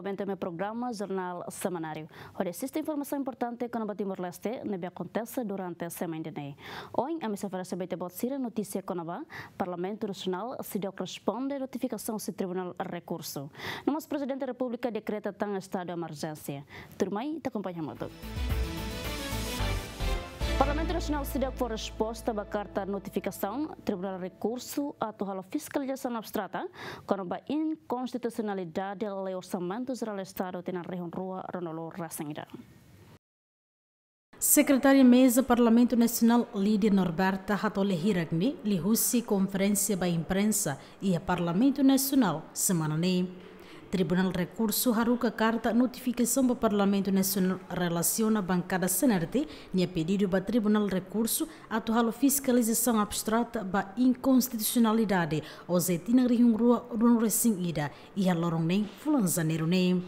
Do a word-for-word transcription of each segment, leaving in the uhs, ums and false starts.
Noventa M programa Jornál Semanáriu, hodi asiste informasaun importante kona-ba Timor-Leste ne'ebé akontese durante semana ida-ne'e. Ohin, ami sei oferese ba ita-boot sira notísia kona-ba Parlamentu Nasionál seidauk responde notifikasaun husi Tribunál Rekursu. No mós Prezidente Repúblika dekreta tan estadu emerjénsia. Tuirmai, ita akompaña hamutuk. Parlamentu Nasionál seidauk fó resposta ba karta notifikasaun Tribunál Rekursu atu halo fiskalizasaun abstrata kona-ba inkonstitusionalidade lei Orsamentu Jerál Estadu tinan rihun rua ruanulu-resin-ida. Sekretária Meza Parlamentu Nasionál Lídia Norberta hato'o lia hirak-ne'e liuhusi konferénsia ba imprensa iha Parlamentu Nasionál semana ne'e. Tribunál Rekursu haruka karta notifikasaun ba Parlamentu Nasionál relasiona bankada C N R T nia pedidu ba Tribunál Rekursu atu halo fiskalizasaun abstrata ba inkonstitusionalidade OJE tinan rihun rua ruanulu-resin-ida iha loron neen fulan Janeiru ne'e.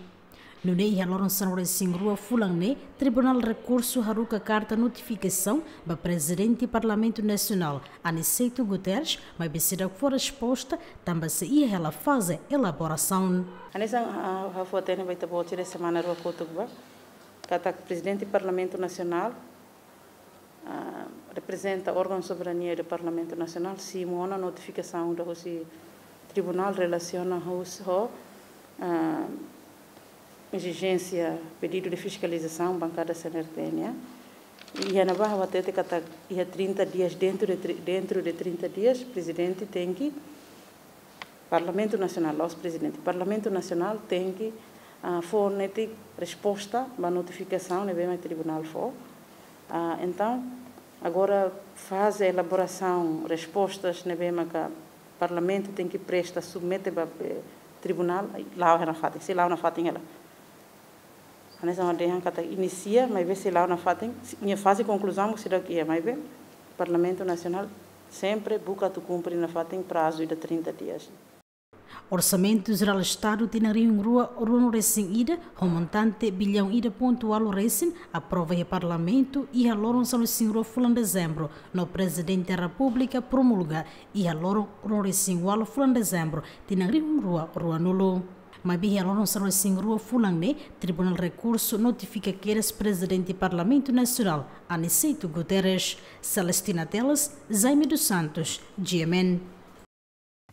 Nune'e iha loron sanulu-resin-rua fulan ne'e, Tribunál Rekursu haruka karta notifikasaun ba Prezidente Parlamentu Nasionál, Aniceto Guterres, maibé seidauk fó resposta, tanba sei iha hela faze elaborasaun. Hanesan, ah, ha'u fó-hatene ba ita-boot sira semana rua kotuk ba, katak Prezidente Parlamentu Nasionál, ah, reprezenta órgaun soberania do Parlamentu Nasionál, simu ona notifikasaun ida husi Tribunál relasiona husi ho, ah, ezijénsia pedidu de fiskalizasaun bankada C N R T nian. Iha ne'ebá ha'u hatete katak iha trinta dias, dentro de tri-, dentro de trinta dias, Prezidente tenke, Parlamentu Nasionál, la'ós Prezidente, Parlamentu Nasionál tenke, ah, fó netik resposta ba notifikasaun ne'ebé mak Tribunál fó. Ah, entaun, agora faze elaborasaun, respostas ne'ebé maka Parlamentu tenke presta, submete ba, eh, Tribunál, la'o iha nafatin, sei la'o nafatin hela. Hanesan ha'u dehan katak inisia, maibé sei la'o nafatin, nia faze konkluzaun, seidauk iha, maibé Parlamentu Nasionál sempre buka atu kumpre nafatin prazu ida trinta dias. Orsamentu Jerál Estadu tinan rihun rua ruanulu-resin-ida, ho montante billaun ida pontu ualu resin, aprova iha Parlamentu iha loron sanulu-resin-rua fulan Dezembru, no Prezidente Repúblika promulga iha loron ruanulu-resin-ualu fulan Dezembru, tinan rihun rua ruanulu. Maibé iha loron sanulu-resin-rua fulan ne'e, Tribunál Rekursu notifika kedas Prezidente Parlamentu Nasionál, Aniceto Guterres. Celestina Teles, Jaime dos Santos, G M N.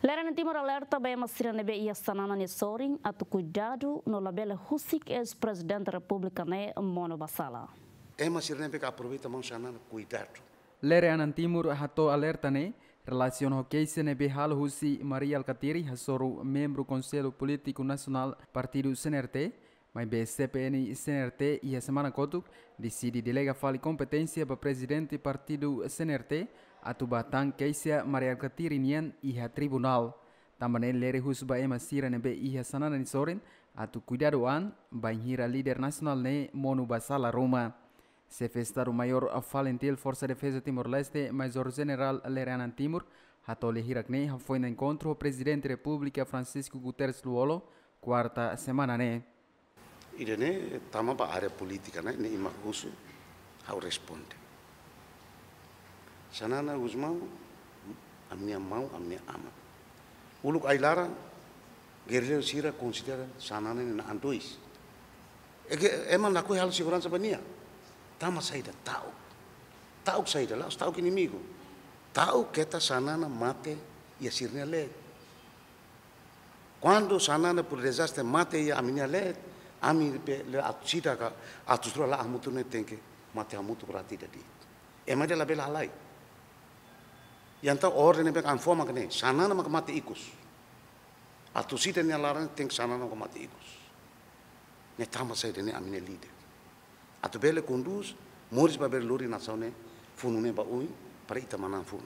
Lere Anan Timur alerta ba ema sira ne'ebé iha Xanana nia sorin atu kuidadu no labele husik eis-Prezidente Repúblika ne'e monu ba sala. Ema sira ne'ebé ke aproveita maun Xanana, kuidadu. Lere Anan Timur hato'o alerta ne'e relasiona ho keixa ne'ebé halo husi Mari Alkatiri, hasoru membru Konsellu Polítiku Nasionál Partidu C N R T, maibé C P N C N R T iha semana kotuk deside delega fali kompeténsia ba Prezidente Partidu C N R T atu bá tan keixa Mari Alkatiri nian iha tribunál. Tanba ne'e lere husu ba ema sira ne'ebé iha Xanana nia sorin atu kuidadu an, bainhira líder nasionál ne'e monu ba sala ruma. Xefe Estadu-Maiór FALINTIL Forsa Defeza Timor-Leste, Majór Jenerál Lere Anan Timur, hato'o lia hirak-ne'e hafoin enkontru ho Prezidente Repúblika Francisco Guterres Lú-Olo, kuarta semana ne'e. Ida-ne'e tama ba área polítika, ne'e, ne'e ema husu, ha'u responde. Xanana Gusmão, ami-nia maun, ami-nia aman. Uluk ai-laran, gerrilleiru sira konsidera Xanana ne'e na'an dois. Ema lakohi halo seguransa ba nia. Tanba saida? Ta'uk. Ta'uk saida? La'ós ta'uk inimigu. Ta'uk keta Xanana mate iha sira-nia leet. Kuandu Xanana por dezastre mate iha ami-nia leet, ami be le atu sida ka atu sura la hamutuk ne'e tenke mate hamutuk rati dadi. Ema ida labele halai. Entaun orden ne'ebé ami fó mak ne'e, Xanana maka mate ikus. Atu sida nia laran tenke Xanana maka mate ikus. Ne'e tanba saida? Ne'e ami-nia líder. Atu bele kondús, moris ba bele lori nasaun ne'e, funu ne'e ba oin, para ita manán funu.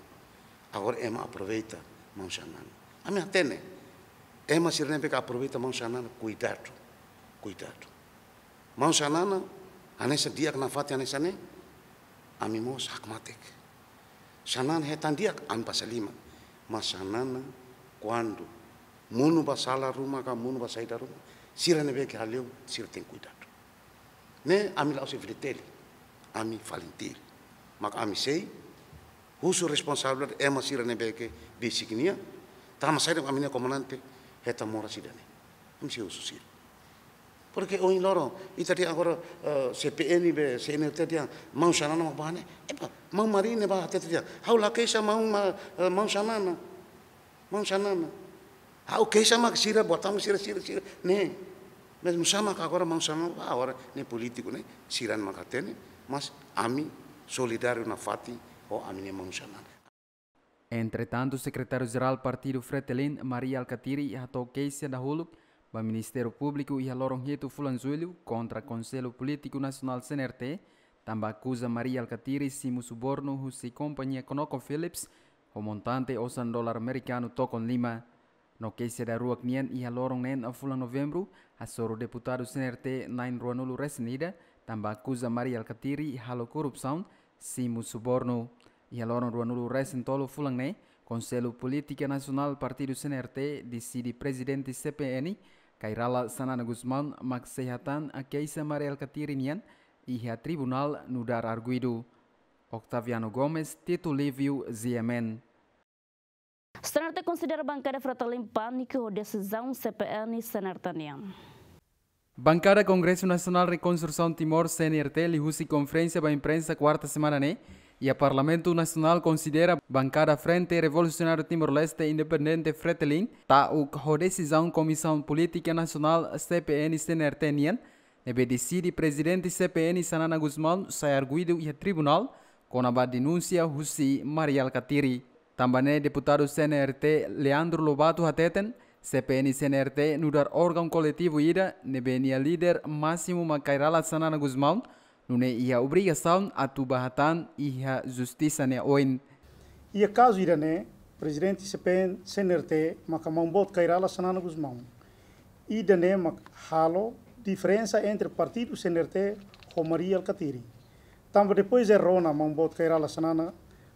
Agora ema aproveita maun Xanana. Ami hatene, ema sira ne'ebé ke aproveita maun Xanana, kuidadu. Kuidadu. Maun Xanana, hanesan di'ak nafatin hanesan ne'e, ami mós hakmatek. Xanana hetan di'ak, ami basa liman. Mas Xanana, kuandu monu ba sala ruma ka monu ba saida ruma, sira ne'ebé ke hale'u, sira tenke kuidadu. Ne'e ami la'ós F-FDTL, ami FALINTIL. Mak ami sei husu responsabilidade ema sira ne'ebé ke designa, tanba saida ami-nia komandante hetan moras ida-ne'e. Ami sei husu sira. Porque ohin loron, ita dehan agora, eh, C P N be C N R T dehan maun Xanana mak bá ne'e. Epá, maun Mari ne'e bá hatete dehan, ha'u la keixa maun Ma-, eh, maun Xanana. Maun Xanana. Ha'u keixa mak sira, buat mak sira, sira, sira. Ne'e. Mas nusá mak agora maun Xanana, ah, agora ne'e polítiku ne'e, sira mak hatene, mas ami solidáriu nafatin ho ami-nia maun Xanana. Entretantu, Sekretáriu-Jerál Partidu Fretilin, Mari Alkatiri, hato'o keixa dahuluk ba Ministériu Públiku iha loron hitu fulan Jullu kontra Konsellu Polítiku Nasionál C N R T, tanba akuza Mari Alkatiri simu subornu husi kompañia ConocoPhillips ho montante osan dolar amerikanu tokon lima. No keixa daruak nian iha loron neen fulan Novembru, hasoru deputadu C N R T na'in ruanulu resin ida, tanba akuza Mari Alkatiri halo korrupsaun, simu subornu. Iha loron ruanulu resin tolu fulan ne'e, Konsellu Polítika Nasionál Partidu C N R T deside Prezidente C P N, Kay Rala Xanana Gusmão, mak sei hatán keixa Mari Alkatiri nian iha tribunál nu'udar arguidu. Octaviano Gomes, Tito Livio, G M N. C N R T konsidera bankada Fretilin pániku ho desizaun C P N C N R T nian. Bankada Kongresu Nasionál Rekonstrusaun Timor, C N R T, liuhusi konferénsia ba imprensa kuarta semana ne'e, iha Parlamentu Nasionál konsidera bankada Frente Revolusionáriu Timor-Leste Independente Fretilin ta'uk ho desizaun Komisaun Polítika Nasionál C P N C N R T nian, ne'ebé deside Prezidente C P N Xanana Gusmão sai arguidu iha tribunál kona-ba denúnsia husi Mari Alkatiri. Tanba ne'e deputadu C N R T Leandro Lobato hateten, C P N C N R T nu'udar órgaun koletivu ida ne'ebé nia líder másimu mak Kay Rala Xanana Gusmão, nune'e iha obrigasaun atu bá hatán iha justisa nia oin. Iha kazu ida-ne'e, Prezidente C P N C N R T maka maun boot Kay Rala Xanana Gusmão. Ida-ne'e mak halo diferensa entre partidu C N R T ho Mari Alkatiri. Tanba depois de rona maun boot Kay Rala Xanana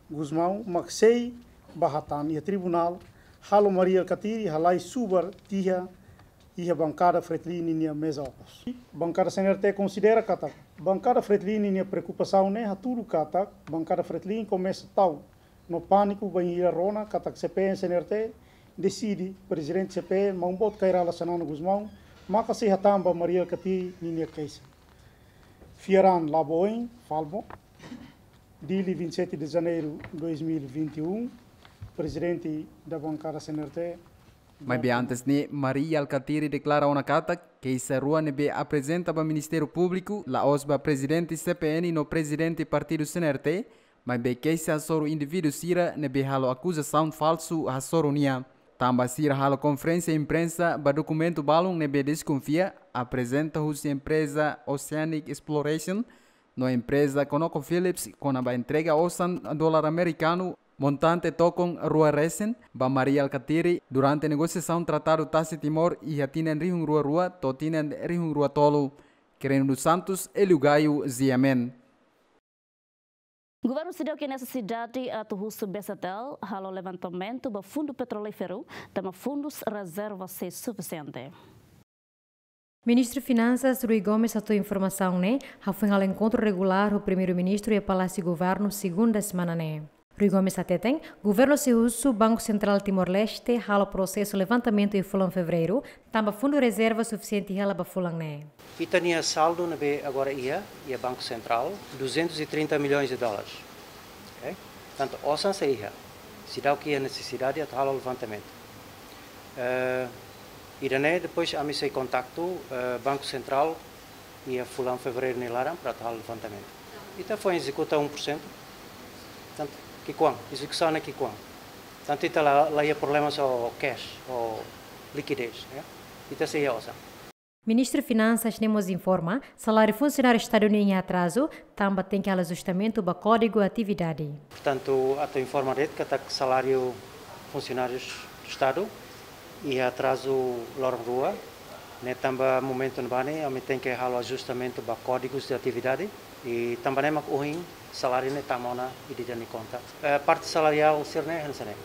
Gusmão mak sei bá hatán iha tribunál, halo Mari Alkatiri halai subar tiha iha bankada Fretilin ninia meza okos. Bankada C N R T konsidera katak bankada Fretilin ninia preokupasaun ne'e hatudu katak bankada Fretilin komesa ta'uk no pániku bainhira rona katak C P N C N R T deside Prezidente C P N maun boot Kay Rala Xanana Gusmão maka sei hatán ba Mari Alkatiri ninia keixa. Fiar an, Laboin Falbo, Dili, vinte e sete de janeiro de dois mil e vinte e um, Presidente da Bancada C N R T. Maibé antes ne'e, Mari Alkatiri deklara ona katak keixa rua ne'ebé aprezenta ba Ministériu Públiku, la'ós ba Prezidente C P N no Prezidente Partidu C N R T, maibé keixa hasoru indivíduu sira ne'ebé halo akuzasaun falsu hasoru nia. Tanba sira halo konferénsia imprensa ba dokumentu balun ne'ebé deskonfia, aprezenta husi empreza Oceanic Exploration no empreza ConocoPhillips kona-ba entrega osan dolar amerikanu montante tokon rua resin ba Mari Alkatiri durante negosiasaun Tratadu Tasi Timor iha tinan rihun rua rua to'o tinan rihun rua tolu. Quirino dos Santos, Hélio Gaio, G M N. Governu seidauk iha nesesidade atu husu B C T L halo levantamentu ba fundu petrolíferu, tanba fundus rezerva sei sufisiente. Ministru Finansas Rui Gomes hato'o informasaun ne'e hafoin halo enkontru regulár ho Primeiru-Ministru iha Palásiu Governu, segunda semana ne'e. Rui Gomes hateten, governu sei husu Banku Sentrál Timor-Leste halo prosesu levantamentu iha fulan Fevereiru, tanba fundu rezerva sufisiente hela ba fulan ne'e. Ita-nia saldu ne'ebé agora iha, iha Banku Sentrál, duzentos e trinta milhões de dólares. Ok? Portantu, osan sei iha. Seidauk iha nesesidade atu halo levantamentu. Eh, ida-ne'e depois ami sei kontaktu, eh, Banku Sentrál iha fulan Fevereiru nia laran para atu halo levantamentu. Ita foin ezekuta um por cento. Portantu, ki'ikoan, ezekusaun ne'e ki'ikoan. Portantu, ita la, la iha problema ho cash, ho likidez, ya. Ita sei iha osan. Ministru Finansas ne'e mós informa, saláriu funsionáriu Estadu nian iha atrazu, tanba tenke halo ajustamentu ba Kódigu Atividade. Portantu, atu informa de'it katak saláriu funsionárius Estadu iha atrazu loron rua, ne'e tanba momentu ne'ebá ne'e, ami tenke halo ajustamentu ba Kódigus de Atividade, i tanba ne'e mak ohin saláriu ne'e tama ona iha ita-nia konta. Eh, parte salariál sira-ne'e hanesan ne'e.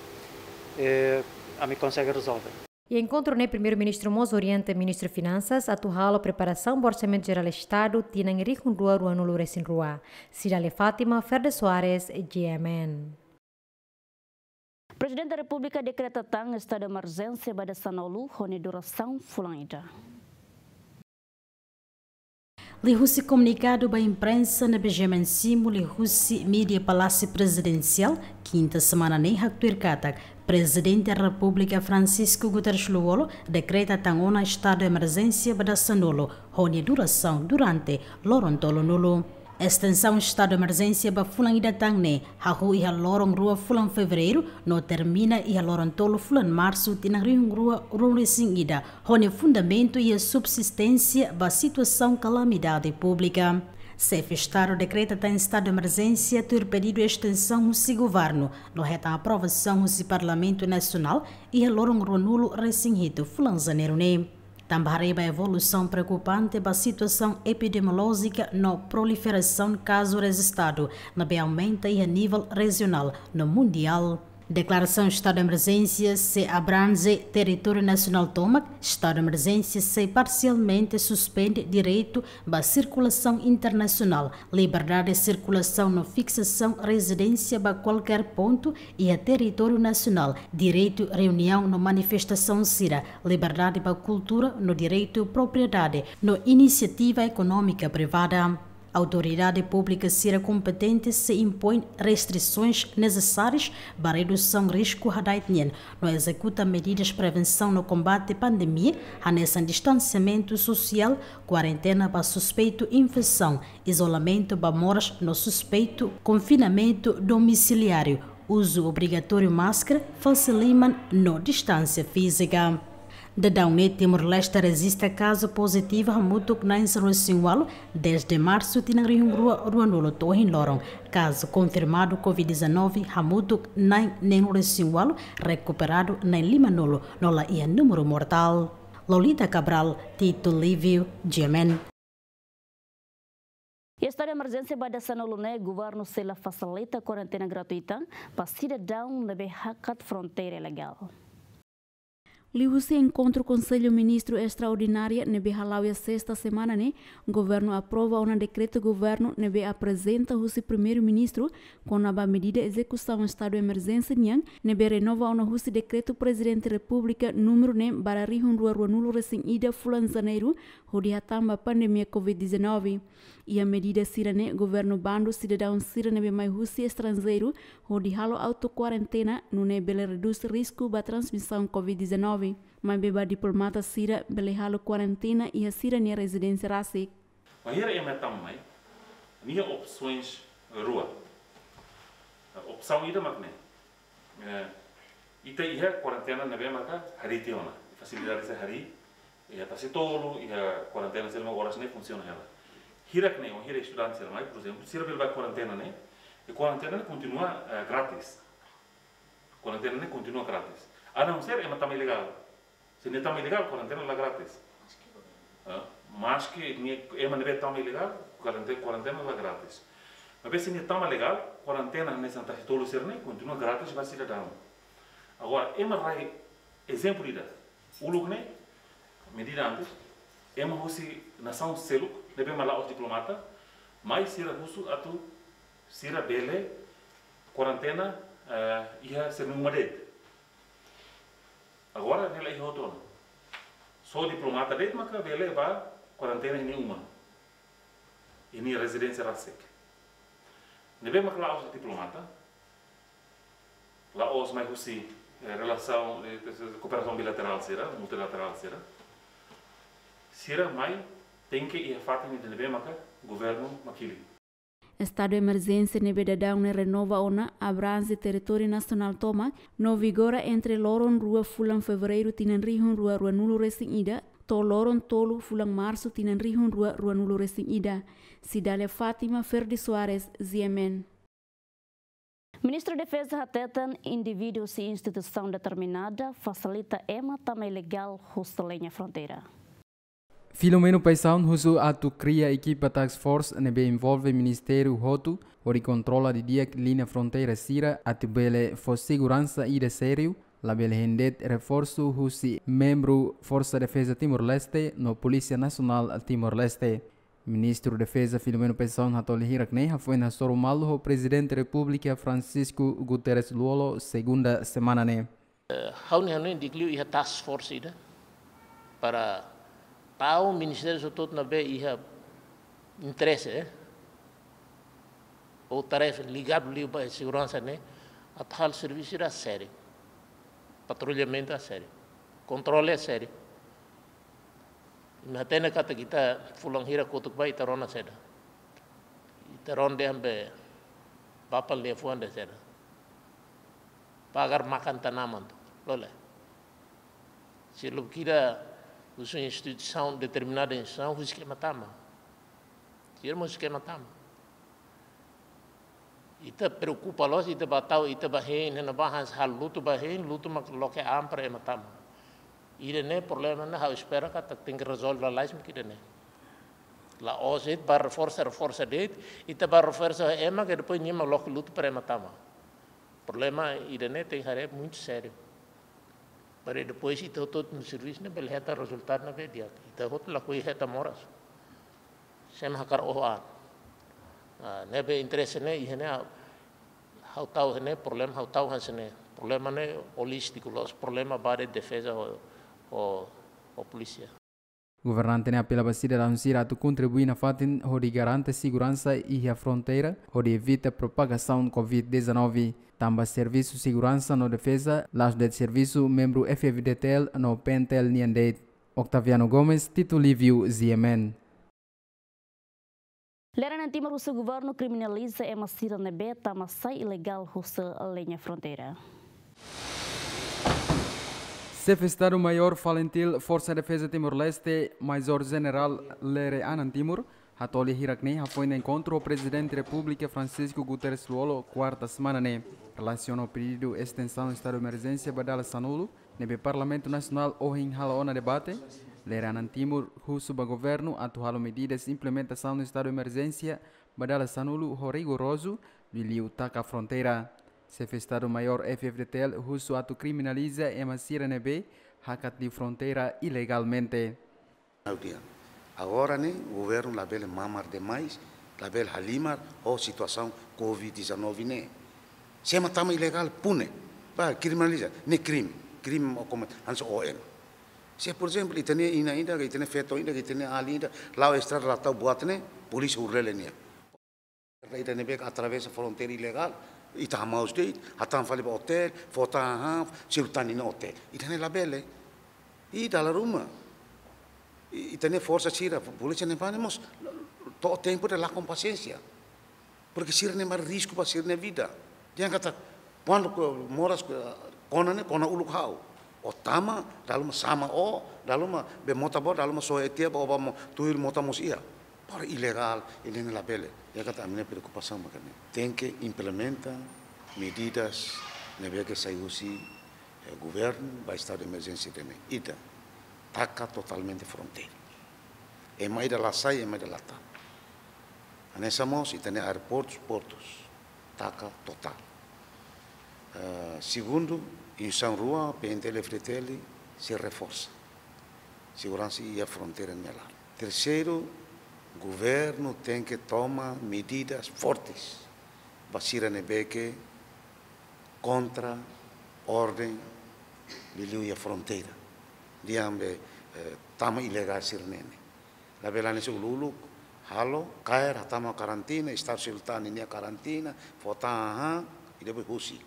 Eh, ami konsege rezolve. Iha enkontru ne'e Primeiru-Ministru mós orienta Ministru Finansas atu halo preparasaun ba Orsamentu Jerál Estadu tinan rihun rua ruanulu resin rua. Cidália Fátima, Ferda Soares, G M N. Prezidente Repúblika dekreta tan estadu emerjénsia ba dezenolu ho nia durasaun fulan ida. Liuhusi komunikadu ba imprensa ne'ebé GMN simu liuhusi mídia Palásiu Prezidensiál, kinta semana ne'e haktuir katak, Prezidente Repúblika Francisco Guterres Lú-Olo dekreta tan ona estadu emerjénsia ba dasanulu, ho nia durasaun durante loron tolunulu. Estensaun estadu emerjénsia ba fulan ida tan ne'e hahú iha loron rua fulan Fevereiru, no termina iha loron tolu fulan Marsu tinan rihun rua ruanulu-resin-ida, ho nia fundamentu iha subsisténsia ba situasaun kalamidade públika. Xefe Estadu dekreta tan estadu emerjénsia tuir pedidu estensaun husi governu, no hetan aprovasaun husi Parlamentu Nasionál iha loron ruanulu-resin-hitu fulan Janeiru ne'e. Tanba haree ba evolusaun preokupante ba situasaun epidemiolójika no proliferasaun kazu rejistadu ne'ebé aumenta iha nivel rejionál no mundiál. Deklarasaun estadu emerjénsia sei abrange territóriu nasionál tomak, estadu emerjénsia sei parsialmente suspende direitu ba sirkulasaun internasionál, liberdade sirkulasaun no fiksasaun rezidénsia ba kualkér pontu iha territóriu nasionál, direitu reuniaun no manifestasaun sira, liberdade ba kultura no direitu propriedade no inisiativa ekonómika privada. Autoridade públika sira kompetente sei impoin restrisaun nesesária ba redusaun risku hada'et nian, no ezekuta medidas prevensaun no kombate pandemia, hanesan distansiamentu sosiál, kuarentena ba suspeitu infesaun, izolamentu ba moras no suspeitu, konfinamentu domisiliáriu, uzu obrigatóriu máskara, fase liman no distánsia fízika. Daudaun ne'e Timor-Leste rejista kazu pozitivu hamutuk na'in sanulu-resin-ualu, dezde Marsu tinan rihun rua ruanulu to'o ohin loron. Kazu konfirmadu Covid dezanove hamutuk na'in neenulu-resin-ualu, rekuperadu na'in limanulu, no la iha númeru mortál. Lolita Cabral, Tito Livio, GMN. Iha estadu emerjénsia ba dasanulu ne'e, governu sei la fasilita kuarentena gratuita ba sidadaun ne'ebé hakat fronteira ilegál. Liuhusi enkontru Konsellu Ministru Estraordinária ne'ebé hala'o iha sesta semana ne'e, governu aprova ona dekretu governu ne'ebé aprezenta husi Primeiru-Ministru kona-ba medida ezekusaun estadu emerjénsia nian, ne'ebé renova ona husi dekretu Prezidente Repúblika númeru ne'e barra rihun rua ruanulu-resin-ida fulan Janeiru, hodi hatán ba pandemia Covid dezanove. Iha medida sira-ne'e, governu bandu sidadaun sira ne'ebé mai husi estranjeiru hodi halo autokuarentena, nune'e bele redús risku ba transmisaun Covid dezanove. Maibé ba diplomata sira bele halo kuarentena iha sira-nia rezidénsia rasik. Bainhira ema tama mai, nia opsaun rua. Opsaun ida mak ne'e. Eh, ita iha kuarentena ne'ebé maka harii tiha ona. Fasilidade sira harii, iha tasi-tolu, iha kuarentena sira mak oras ne'e funsiona hela. Hirak ne'e, bainhira estudante sira mai, por ezemplu, sira bele bá kuarentena ne'e, i kuarentena ne'e kontinua, eh, grátis. Kuarentena ne'e kontinua grátis. A não ser ema tama ilegál. Se nia tama ilegál, kuarentena la grátis. Ah, maske nia, ema ne'ebé tama ilegál, kuarente-, kuarentena la grátis. Maibé se nia tama legál, kuarentena hanesan tasi-tolu sira-ne'e kontinua grátis ba sidadaun. Agora, ema rai, ezemplu ida, uluk ne'e, medida antes, ema husi nasaun seluk, ne'ebé mak la'ós diplomata, mai sira husu atu sira bele kuarentena, eh, iha sira-nia uma de'it. Agora, ne'e la iha hotu ona. Só diplomata de'it maka bele bá kuarentena iha nia uma, iha nia rezidénsia rasik. Ne'ebé mak la'ós diplomata, la'ós mai husi, eh, relasaun, eh, kooperasaun bilaterál sira, multilaterál sira. Sira mai tenke iha fatin ida ne'ebé maka governu mak hili. Estadu emerjénsia ne'ebé daudaun ne'e renova ona abrange territóriu nasionál tomak, no vigora entre loron rua fulan Fevereiru tinan rihun rua ruanulu-resin-ida, to'o loron tolu fulan Marsu tinan rihun rua ruanulu-resin-ida. Cidália Fátima, Ferdi Soares, GMN. Ministru Defeza hateten indivíduu husi instituisaun determinada fasilita ema tama ilegál husi liña fronteira. Filomeno Paixão husu atu kria ekipa task force ne'ebé envolve ministériu hotu, hodi kontrola didi'ak liña fronteira sira atu bele fó seguransa ida sériu, labele hein de'it reforsu husi membru Forsa Defeza Timor-Leste no Polísia Nasionál Timor-Leste. Ministru Defeza Filomeno Paixão hato'o hirak-ne'e hafoin hasoru malu ho Prezidente Repúblika Francisco Guterres Lú-Olo, segunda semana ne'e. Eh, ha'u-nia hanoin di'ak liu iha task force ida para tau ministériu hotu-hotu ne'ebé iha interese, eh, ou tarefa ligadu liu ba seguransa ne'e, atu halo servisu sira sériu, patrullamentu sériu, kontrole sériu. Imi hatene katak ita fulan hira kotuk ba ita rona saida? Ita rona dehan be bapal liafuan de'it saida? Pagar makan tanaman tu, lole. Se lubuk ida husu instituisaun, determinada instituisaun, husik ema tama. Sira mós husik ema tama. Ita preokupa loos, ita ba tau, ita ba hein, ne'e ba hanesan halo lutu ba hein, lutu mak loke an para ema tama. Ida-ne'e problema ne'e ha'u espera katak tenke rezolve lalais mak ida-ne'e. La'ós ita ba reforsa, reforsa de'it, ita ba reforsa ema ke depois nia mak loke lutu para ema tama. Problema ida-ne'e tenke haree muitu sériu. Para depois ita hotu-hotu no servisu ne'e bele hetan rezultadu ne'ebé di'ak. Ita hotu lakohi hetan moras. Sé mak hakarak oho an. Ah, ne'ebé interese ne'e, iha ne'e, ha'u tau ne'e, problema ha'u tau hanesan ne'e. Problema ne'e holístiku, la'ós problema ba de'it defeza ho, ho, ho polísia. Governante ne'e apela ba sidadaun sira atu kontribui nafatin hodi garante seguransa iha fronteira, hodi evita propagasaun covid dezanove. Tanba servisu seguransa no defeza la'ós de'it servisu membru F F D T L no P N T L nian de'it. Octaviano Gomes, Tito Livio, G M N. Lere Anan Timur husu governu kriminaliza ema sira ne'ebé tama sai ilegál husi liña fronteira. Xefe Estadu Maiór Falintil Forsa Defeza Timor-Leste, Major Jenerál Lere Anan Timur, hato'o lia hirak-ne'e hafoin enkontru ho Prezidente Repúblika Francisco Guterres Lú-Olo, kuarta semana ne'e, relasiona ho pedidu estensaun estadu emerjénsia ba dala sanulu, ne'ebé Parlamentu Nasionál ohin halo ona debate, Lere Anan Timur husu ba governu atu halo medidas implementasaun estadu emerjénsia ba dala sanulu ho rigorozu, liuliu taka fronteira. Xefe Estadu Maiór F F D T L husu atu kriminaliza ema sira ne'ebé hakat liu fronteira ilegalmente. Agora ne'e, governu labele mamar demais, labele halimar ho situasaun covid dezanove ne'e. Se ema tama ilegál, pune. Ba, kriminaliza, ne'e krime, krime mak komete, hanesan O M. Se, por ezemplu, ita-nia inan ida, ita-nia feto ida, ita-nia alin ida, la'o estrada la tau buat ne'e, polísia huru lele nia. Ida ne'ebé atravesa fronteira ilegál, ita hamaus de'it, hatama fali ba otél, fó tan hahán, selu tan iha otél. Ida-ne'e labele. I dala ruma, i, ita-nia forsa sira, polísia ne'ebá ne'e mós, to'o tempu ida lakon pasiénsia. Porque sira-ne'e mak risku ba sira-nia vida. Dehan katak, kuandu ke moras ke kona ne'e, kona uluk ha'u. Ó tama, dala ruma sama ó, dala ruma be mota ba ó, dala ruma soe tiha ba ó ba mo, tuir mota mós iha. Para ilegál, ida-ne'e labele. Dehan katak ami-nia preokupasaun mak ne'e. Tenke implementa medidas ne'ebé ke sai husi, eh, governu ba estadu de emerjénsia ida-ne'e. Ida, taka totalmente fronteira. Ema ida la sai, ema ida la tama. Hanesan mós, ita-nia aeroportus, portus, taka totál. Eh, segundu, instituisaun rua, P N T L, F D T L, sei reforsa seguransa iha fronteira nia laran. Terseiru, governu tenke toma medidas fortes ba sira ne'ebé ke kontra orden liuliu iha fronteira. Dehan be, eh, tama ilegál sira-ne'e ne'e. Labele hanesan uluk-uluk, halo, kaer, hatama karantina, estadu selu tan ninia karantina, fó tan hahán, i depois husik.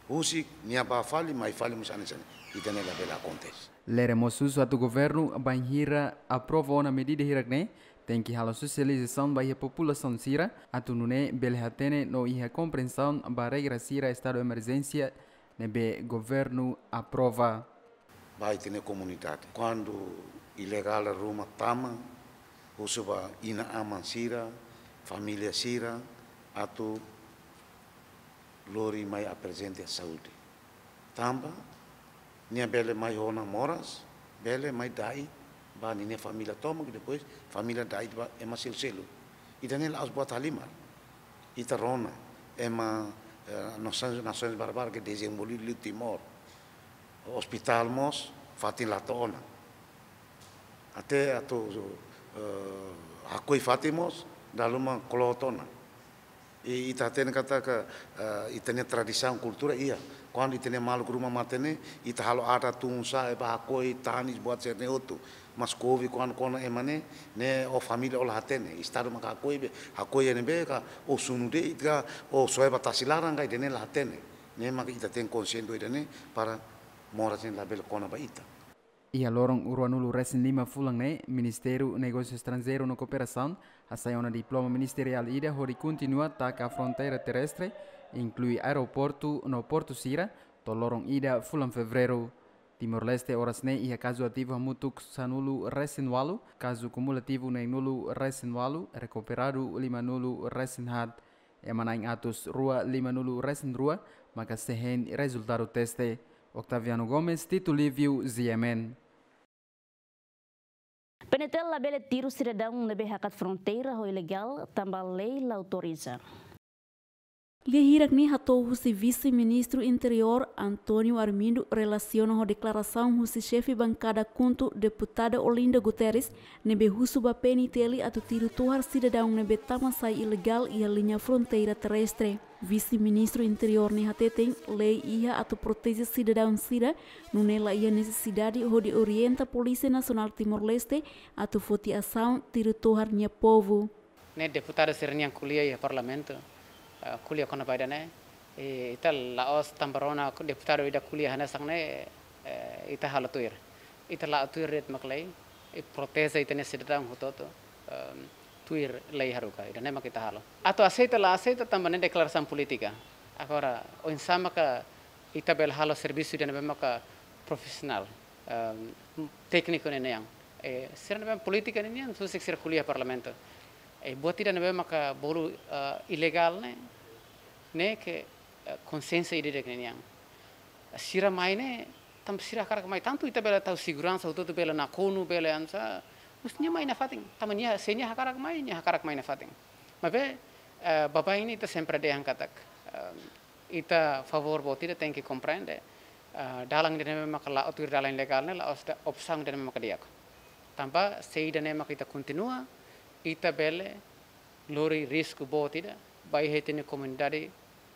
Husik, nia bá fali, mai fali mós hanesan ne'e. Ida-ne'e labele akontese. Lere mós husu atu governu, bainhira aprova ona medida hirak-ne'e, tenke halo sosializasaun ba iha populasaun sira, atu nune'e bele hatene no iha komprensaun ba regra sira estadu emerjénsia ne'ebé governu aprova. Ba ita-nia komunidade. Kuandu ilegál ruma tama, husu ba inan-aman sira, família sira, atu lori mai aprezenta saúde. Tanba, nia bele mai ho ona moras, bele mai da'et ba ninia família tomak, depois família da'et ba ema selu-selu. Ida-ne'e la'ós buat halimar. Ita rona, ema, eh, nasaun, nasaun barbarak ke dezenvolve liu Timor. Ospitál mós, fatin la to'o ona. Até atu, eh, hakoi fatin mós, dala ruma kloot ona. I ita hatene katak, eh, ita-nia tradisaun kultura iha. Kuandu ita-nia maluk ruma mate ne'e, ita halo adat tun sa'e ba hakoi, tanis, buat sira-ne'e hotu. Mas kovi kuandu kona ema ne'e, ne'e ó família ó la hatene. Estadu maka hakoi be, hakoi iha ne'ebé ka, ó sunu de'it ka, ó soe ba tasi laran ka, ida-ne'e la hatene. Ne'e maka ita tenke konsiente ho ida-ne'e para moras ne'e labele kona ba ita. Iha loron ruanulu resin lima fulan ne'e, Ministériu Negósiu Estranjeiru no Kooperasaun hasai ona diploma ministeriál ida hodi kontinua taka fronteira terrestre, inklui aeroportu no portu sira, to'o loron ida fulan Fevereiru. Timor-Leste oras ne'e iha kazu ativu hamutuk sanulu resin ualu, kazu kumulativu neenulu resin ualu, rekuperadu limanulu resin haat. Ema na'in atus rua limanulu resin rua maka sei hein rezultadu teste. Octaviano Gomes, Tito Livio, G M N. PNTL labele tiru sidadaun ne'ebé hakat fronteira ho ilegál, tanba lei la autoriza. Lia hirak ne'e hato'o husi Vise-Ministru Interiór António Armindo relasiona ho deklarasaun husi xefe bankada KHUNTO, Deputada Olinda Guterres, ne'ebé husu ba PNTL atu tiru tohar sidadaun ne'ebé tama sai ilegál iha liña fronteira terrestre. Vise-Ministru Interiór ne'e hateten lei iha atu proteje sidadaun sira, nune'e la iha nesesidade hodi orienta Polísia Nasionál Timor-Leste atu foti asaun tiru tohar nia povu. Ne'e deputadu sira-nian ko'alia iha parlamentu, eh, ko'alia kona-ba ida-ne'e, i ita la'ós tanba rona deputadu ida ko'alia hanesan ne'e, eh, ita halo tuir. Ita la'o tuir de'it mak lei, i proteje ita-nia sidadaun hotu-hotu, ehm, tuir lei haruka, ida-ne'e mak ita halo. Atu aseita la aseita tanba ne'e deklarasaun polítika. Agora, oinsá maka ita bele halo servisu ida ne'ebé maka profisionál, ehm, tékniku ne'e nian. Eh, sira ne'ebé polítika ne'e nian, husik sira ko'alia parlamentu. Eh, buat ida ne'ebé maka bolu, eh, ilegál ne'e, ne'e ke, eh, konsiénsia ida-idak ne'e nian. Sira mai ne'e, tanba sira hakarak mai, tantu ita bele tau seguransa, hotu-hotu bele nakonu, bele hanesan, mas nia mai nafatin, tanba nia, se nia hakarak mai, nia hakarak mai nafatin. Maibé, eh, baibain ne'e ita sempre dehan katak, eh, ita favór boot ida tenke komprende, eh, dalan ida ne'ebé maka la'o tuir dalan legál ne'e, la'ós ida opsaun ida ne'ebé maka di'ak. Tanba, se ida-ne'e maka ita kontinua, ita bele lori risku boot ida, ba iha ita-nia komunidade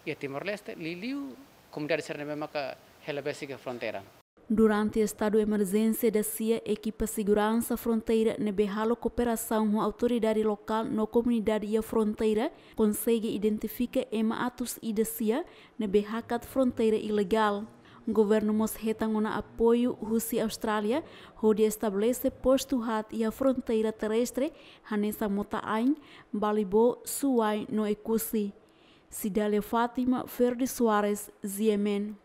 iha Timor-Leste, liuliu komunidade sira ne'ebé maka hela besik iha fronteira. Durante estadu emerjénsia da-sia, ekipa seguransa fronteira ne'ebé halo kooperasaun ho autoridade lokál no komunidade iha fronteira konsege identifika ema atus ida sia ne'ebé hakat fronteira ilegál. Governu mós hetan ona apoiu husi Austrália hodi estabelese postu haat iha fronteira terrestre hanesan Mota-Ain, Balibó, Suai no Oekusi. Cidália Fátima, Ferdi Soares, G M N.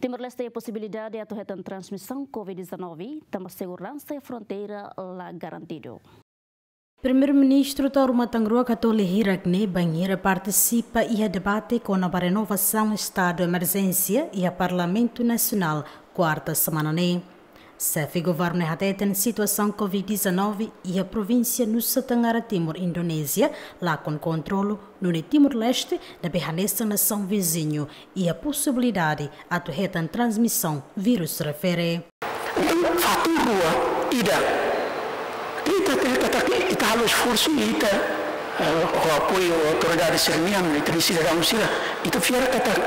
Timor-Leste iha posibilidade atu hetan transmisaun covid dezanove, tanba seguransa iha fronteira la garantidu. Primeiru-Ministru Taur Matan Ruak hato'o lia hirak ne'e bainhira partisipa iha debate kona-ba renovasaun estadu emerjénsia iha Parlamentu Nasionál, kuarta semana ne'e. Xefe governu ne'e hateten situasaun covid dezanove iha provínsia Nusa Tenggara Timur, Indonézia, lakon kontrolu, nune'e Timor-Leste ne'ebé hanesan nasaun viziñu iha posibilidade atu hetan transmisaun vírus refere. Entaun, fatór rua ida. Ita, ita, ita, ita halo esforsu, ita, eh, ho apoiu autoridade sira-nian, ita-nia sidadaun sira, ita fiar katak,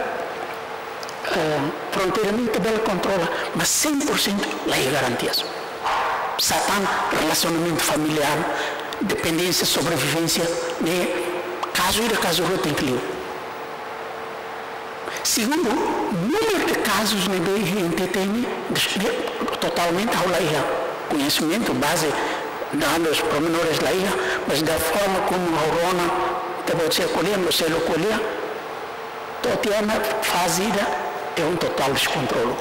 eh, fronteira ne'e ita bele kontrola, mas cem por cento la iha garantias. Sá tan relasionamentu familiár, dependénsia, sobrevivénsia, ne'e kazu ida, kazu rua tenke liu. Segundu, númeru de kazus ne'ebé iha N T T ne'e, de-, totalmente ha'u la iha koñesimentu, baze, dadus pormenores la iha, mas da forma como ha'u rona, ita-boot sira ko'alia, no selu ko'alia, to'o tiha ona faze ida, é um total descontrolo.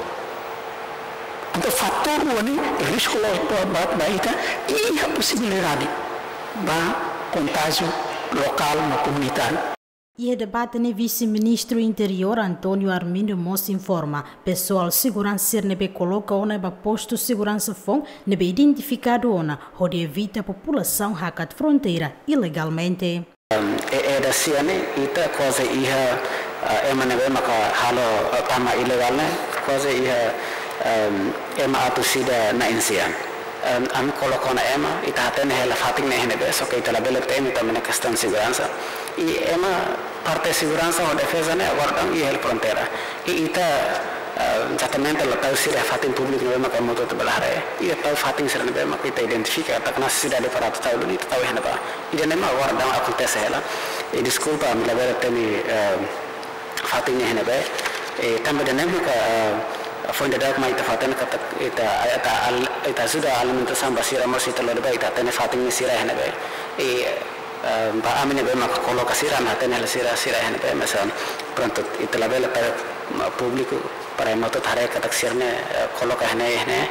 Entaun, fatór rua ne'e, risku loos ba, ba, ba ita, iha posibilidade ba kontájiu lokál no komunitáriu. Iha debate ne'e Vise-Ministru Interiór António Armindo mós informa, pesoál seguransa sira ne'ebé koloka ona ba postu seguransa foun ne'ebé identifikadu ona hodi evita populasaun hakat fronteira ilegalmente. Em, e, e da sian ne'e, ita kuaze iha, eh, ema ne'ebé maka halo, eh, tama ilegál ne'e, kuaze iha, em, ema atus ida na'in-sian. Em, ami koloka ona ema, ita hatene hela fatin ne'e iha ne'ebé, só ke ita labele temi tanba ne'e kestaun seguransa. I ema parte seguransa ho defeza ne'e agora daudaun iha hela fronteira. I ita, eh, ezatamente la tau sira fatin públiku ne'ebé maka ema hotu-hotu bele haree. Ita tau fatin sira ne'ebé maka ita identifika katak nesesidade para atu tau duni, ita tau iha ne'ebá. Ida-ne'e mak agora daudaun akontese hela. I deskulpa, ami labele temi, eh, fatin ne'e iha ne'ebé. Eh, tanba ida-ne'e maka, eh, foin daudauk mai ita fatin katak ita, ita al-, ita ajuda alimentasaun ba sira mós ita lori ba ita hatene fatin ne'e sira iha ne'ebé. I, eh, ba ami ne'ebé maka koloka sira, ami hatene hela sira, sira iha ne'ebé, mas, eh, prontu, ita labele tau, mm, públiku para ema hotu haree katak sira ne'e, eh, koloka iha ne'e, iha ne'e.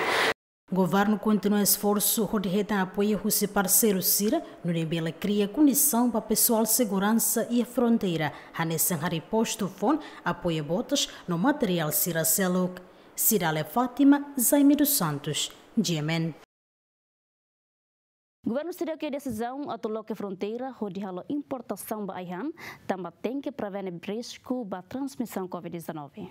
Governu kontinua esforsu hodi hetan apoiu husi parseiru sira, nune'e bele kria kondisaun ba pesoál seguransa iha fronteira, hanesan harii postu foun, apoiu botas no materiál sira seluk. Cidália Fátima, Jaime dos Santos, G M N. Governu seidauk iha desizaun atu loke fronteira hodi halo importasaun ba ai-han, tanba tenke prevene risku ba transmisaun covid dezanove.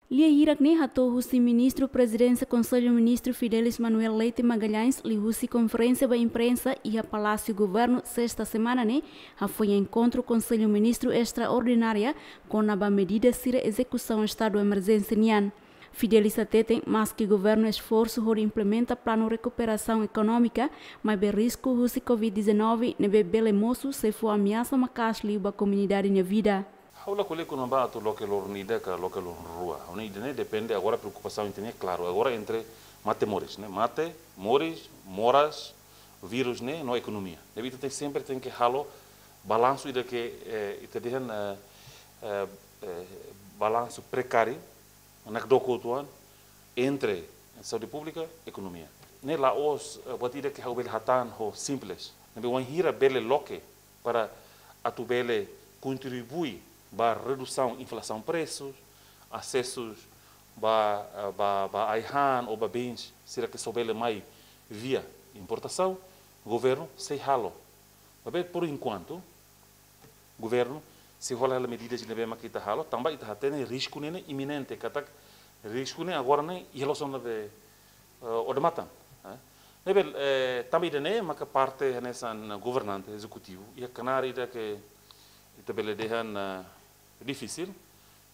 Lia hirak ne'e hato'o husi Ministru Prezidénsia Konsellu Ministru Fidelis Manuel Leite Magalhães liuhusi konferénsia ba imprensa iha Palásiu Governu, sesta semana ne'e, hafoin enkontru Konsellu Ministru estraordinária kona-ba medida sira ezekusaun estadu emerjénsia nian. Fidelis hateten, maske governu esforsu hodi implementa planu rekuperasaun ekonómika, maibé risku husi covid dezanove ne'ebé bele mosu sei fó ameasa maka'as liu ba komunidade nia vida. Ha'u la ko'alia kona-ba atu loke loron ida ka loke loron rua. Ha'u-nia ida-ne'e depende agora preokupasaun ita-nia klaru. Agora entre mate moris, ne'e? Mate, moris, moras, vírus ne'e, no ekonomia. Ne'ebé ita tenke sempre tenke halo balansu ida ke, eh, ita dehan, eh, eh, eh, balansu prekáriu, nakdoko uitoan entre saúde públika, ekonomia. Ne'e la'ós, eh, buat ida ke ha'u bele hatán ho simples. Ne'ebé wainhira bele loke para atu bele kontribui ba redusaun inflasaun presus, asesu ba, eh, ba, ba ai-han ou ba bens sira ke só bele mai via importasaun, governu sei halo. Maibé, por enquanto, governu sei hola hela medidas ne'ebé mak ita halo, tanba ita hatene risku ne'e iminente, katak risku ne'e agora ne'e iha loos ona be, eh, odamatan, eh. Ne'ebé, eh, tanba ida-ne'e maka parte hanesan governante ezekutivu iha knaar ida ke ita bele dehan, eh, difisil,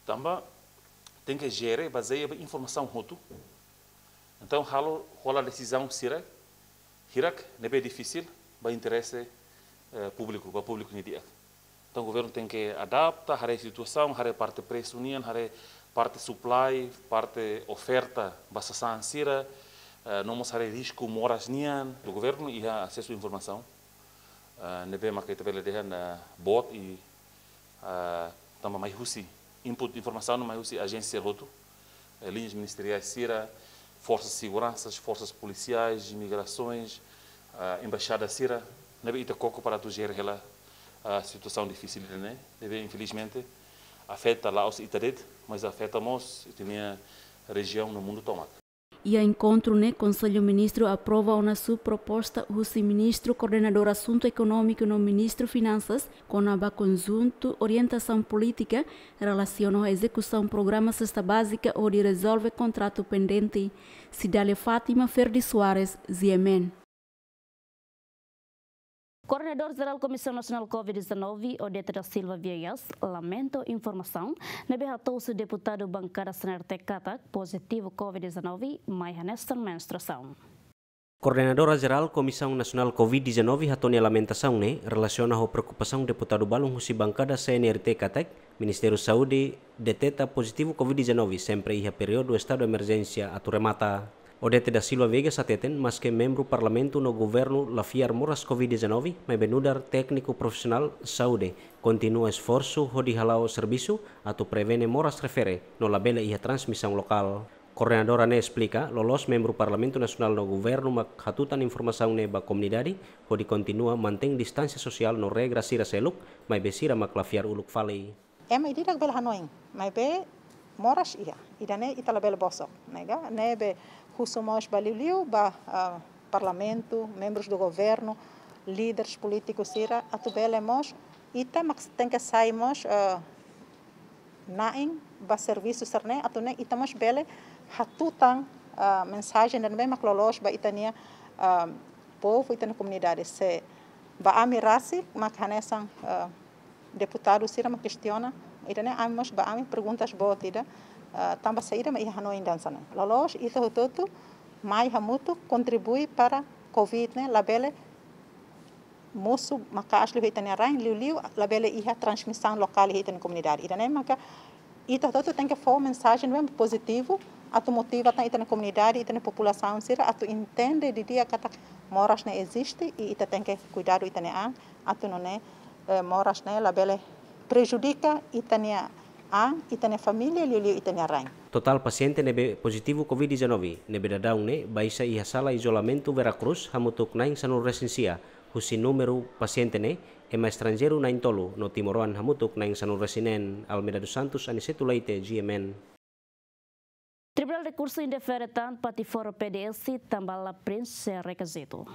tanba tenke jere bazeia ba informasaun hotu. Entaun, halo, hola desizaun sira hirak ne'ebé difisil ba interese, eh, públiku, ba públiku nia di'ak. Entaun, governu tenke adapta, haree situasaun, haree parte presu nian, haree parte supply, parte oferta ba sasán sira, eh, no mós haree risku moras nian. Governu iha asesu informasaun, eh, ne'ebé maka ita bele dehan, eh, boot i, eh, tanba mai husi input informasaun, mai husi ajénsia hotu, eh, liñas ministeriais sira, forsas seguransa, forsas polisiais, imigrasoens, eh, embaixada sira, ne'ebé ita koko para atu jere hela, eh, situasaun difisil ne'e, ne'ebé infelizmente afeta la'ós ita de'it, mas afeta mós ita-nia rejiaun no mundu tomak. Iha enkontru ne'e, Konsellu Ministru aprova ona sub-proposta husi Ministru Koordenadór Asuntu Ekonómiku no Ministru Finansas, kona-ba konjuntu orientasaun polítika relasiona ho ezekusaun programa sesta bázika hodi rezolve kontratu pendente. Cidália Fátima, Ferdi Soares, G M N. Koordenadór Jerál Komisaun Nasionál covid dezanove, Odete da Silva Viegas, lamenta informasaun ne'ebé hato'o husi deputadu bankada C N R T katak pozitivu covid dezanove mai hanesan menstruasaun. Koordenadora Jerál Komisaun Nasionál covid dezanove hato'o nia lamentasaun ne'e relasiona ho preokupasaun deputadu balun husi bankada C N R T katak Ministériu Saúde deteta pozitivu covid dezanove sempre iha períodu estadu emerjénsia atu remata. Odete da Silva Viegas hateten, maske membru Parlamentu no Governu la fiar moras covid dezanove, maibé nu'udar tékniku profisionál saúde, kontinua esforsu hodi hala'o servisu atu prevene moras refere no labele iha transmisaun lokál. Koordenadora ne'e esplika, loloos membru Parlamentu Nasionál no Governu mak hatutan informasaun ne'e ba komunidade, hodi kontinua mantein distánsia sosiál no regra sira seluk, maibé sira mak la fiar uluk fali. Ema ida-idak bele hanoin, maibé moras iha, ida-ne'e ita labele bosok, ne'e ka? Ne'ebé husu mós ba liuliu ba, ah, Parlamentu, membrus do Governu, líderes polítikus sira, atu bele mós, ita mak tenke sai mós, ah, na'in ba servisu sira-ne'e, atu nune'e ita mós bele hatutan Ah, mensajen ida-ne'ebé mak loloos ba ita-nia, ah, povu, ita-nia komunidade. Se ba ami rasik mak hanesan, ah, deputadu sira mak kestiona, ida-ne'e ami mós ba ami perguntas boot ida, ah, tanba saida mak iha hanoin hanesan ne'e. Loloos ita hotu-hotu mai hamutuk kontribui para covid ne'e labele mosu maka'as liu iha ita-nia rain, liuliu labele iha transmisaun lokál iha ita-nia komunidade. Ida-ne'e maka ita hotu-hotu tenke fó mensajen ne'ebé pozitivu, atu motiva tan ita-nia komunidade, ita-nia populasaun sira, atu entende didi'ak katak moras ne'e eziste, i ita tenke kuidadu ita-nia an, atu nune'e, eh, moras ne'e labele prejudika ita-nia an, ita-nia família, liuliu ita-nia rain. Totál pasiente ne'ebé pozitivu covid dezanove ne'ebé daudaun ne'e baixa iha sala izolamentu Vera Cruz hamutuk na'in sanulu resin sia, husi númeru pasiente ne'e ema estranjeiru na'in tolu no timoroan hamutuk na'in sanulu resin neen. Almeida dos Santos, Aniceto Leite, G M N. Tribunál Rekursu indefere tan Patiforo P D S tanba la prienxe rekizitu.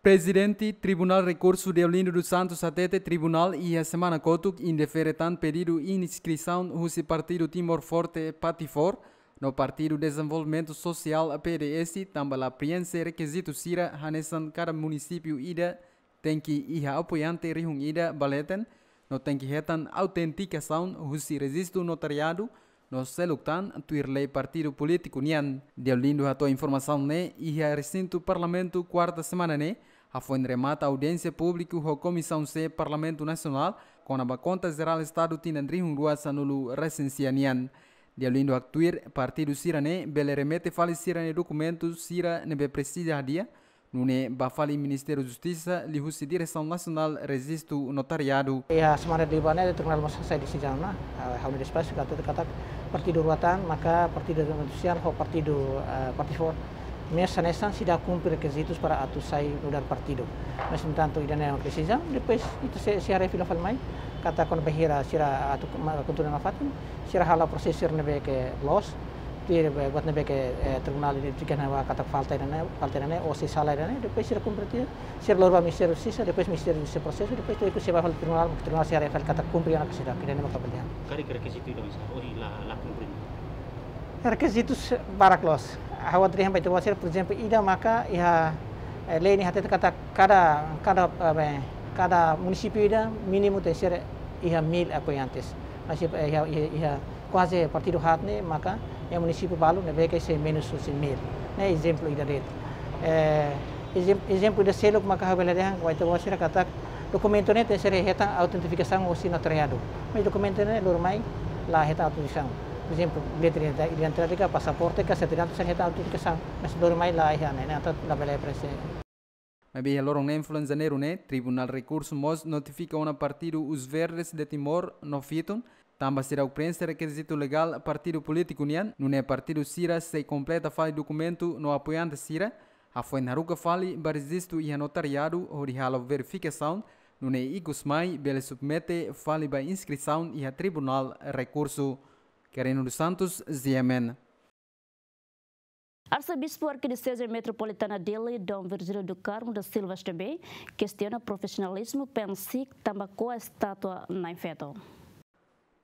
Prezidente Tribunál Rekursu Deolindo dos Santos hatete tribunál iha semana kotuk indefere tan pedidu inskrisaun husi Partidu Timor Forte, Patifor, no Partidu Dezenvolvimentu Sosiál, P D S, tanba la prienxe rekizitu sira hanesan kada munisípiu ida tenke iha apoiante rihun ida ba leten, no tenke hetan autentikasaun husi rejistu notariadu, no seluk tan tuir lei partidu polítiku nian. Deolindo hato'o informasaun ne'e iha resintu Parlamentu kuarta semana ne'e, hafoin remata audiénsia públiku ho Komisaun C Parlamentu Nasionál, kona-ba Konta Jerál Estadu tinan rihun rua sanulu resin sia nian. Deolindo haktuir partidu sira-ne'e bele remete fali sira-nia dokumentu sira ne'ebé presiza hadi'a, nune'e bá fali Ministériu Justisa liuhusi Diresaun Nasionál Rejistu Notariadu. Iha semana ida ba ne'e Tribunál mós hasai desizaun ona, ah, ha'u-nia despaxu katak, katak partidu rua tan, maka Partidu Dezenvolvimentu Sosiál ho Partidu, ah, Patifor, mós hanesan seidauk kumpre rekizitus para atu sai nu'udar partidu. Mas, no entantu, ida-ne'e desizaun, depois ita sei, sei haree fila fali mai, katak kona-ba hira sira atu ma-, kontinua nafatin, sira halo prosesu sira ne'ebé ke loos, tuir be-, buat ne'ebé ke, eh, tribunál identifika ona katak falta ida-ne'e, falta ida-ne'e, ou sei sala ida-ne'e, depois sira kumpre tiha, sira lori ba Ministériu Justisa, depois Ministériu Justisa prosesu, depois tuir ikus sei bá fali tribunál, tribunál sei haree fali katak kumpre ona ka seidauk, ida-ne'e maka pilihan. Karik rekizitu ida, mas, ohin la, la kumpre. Rekizitus barak loos. Ha'u atu dehan ba ita-boot sira, por ezemplu, ida maka iha, eh, lei ne'e hatete katak kada, kada, eh, be, kada munisípiu ida mínimu tenke ser iha mil apoiantes. Mas iha, iha, iha, iha kuaze partidu haat ne'e maka iha munisípiu balu ne'ebé ke sei menus husi mil. Ne'e ezemplu ida de'it. Eh, ezem-, ezemplu ida seluk maka ha'u bele dehan ba ita-boot sira katak dokumentu ne'e tenke ser hetan autentifikasaun husi notariadu. Mas dokumentu ne'e lori mai la hetan autentifikasaun. Por ezemplu, bilhete de identi-, identidade ka pasaporte ka sertifikadu sira hetan autentifikasaun. Mas lori mai la iha ne'e, ne'e entaun labele prienxe. Maibé iha loron neen fulan Janeiru ne'e, Tribunál Rekursu mós notifika ona partidu Os Verdes de Timor no Fitun, tanba seidauk prienxe rekizitu legál partidu polítiku nian, nune'e partidu sira sei kompleta fali dokumentu no apoiante sira, hafoin haruka fali ba rejistu iha notariadu hodi halo verifikasaun, nune'e ikus mai bele submete fali ba inskrisaun iha Tribunál Rekursu. Quirino dos Santos, G M N. Arsebispu Arkidioseze Metropolitana Dili, Dom Virgílio do Carmo da Silva S D B, kestiona profisionalizmu PNSIK tanba ko'a estátua Na'in Feto.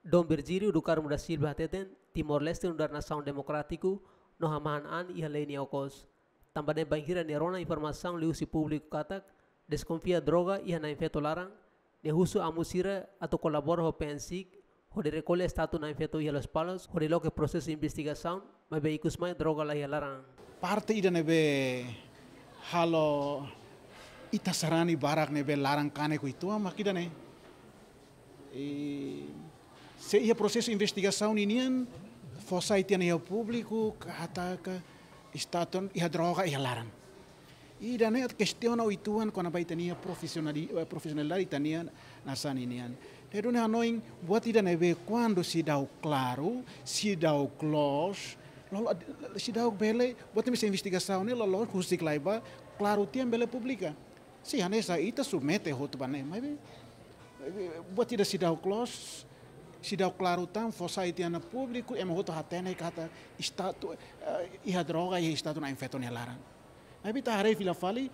Dom Virgílio do Carmo da Silva hateten, Timor-Leste nu'udar nasaun demokrátiku no hamahan an iha lei nia okos. Tanba ne'e bainhira nia rona informasaun liuhusi públiku katak deskonfia droga iha Na'in Feto laran, nia husu amu sira atu kolabora ho PNSIK hodi rekolla estátua Na'in Feto iha Lospalos hodi loke prosesu investigasaun, maibé ikus mai droga la iha laran. Parte ida ne'ebé halo ita sarani barak ne'ebé laran kanek uitoan mak ida-ne'e. I se iha prosesu investigasaun ninian fó sai tiha ona iha públiku katak estátua iha droga iha laran. Ida-ne'e atu kestiona uitoan kona-ba ita-nia profisionali-, eh, profisionalidade ita-nia nasaun ninian. Ne'e duni hanoin buat ida ne'ebé kuandu seidauk klaru, seidauk loos, lolo, seidauk bele, buat ne'ebé sei investigasaun ne'e loloos husik lai ba, klaru tiha bele publika. Se hanesan ita submete hotu ba ne'e, maibé, eh, buat ida seidauk loos, seidauk klaru tan, fó sai tiha ona públiku, ema hotu hatene katak estátua, eh, iha droga, iha estátua Na'in Feto nia laran. Maibé ita haree fila fali,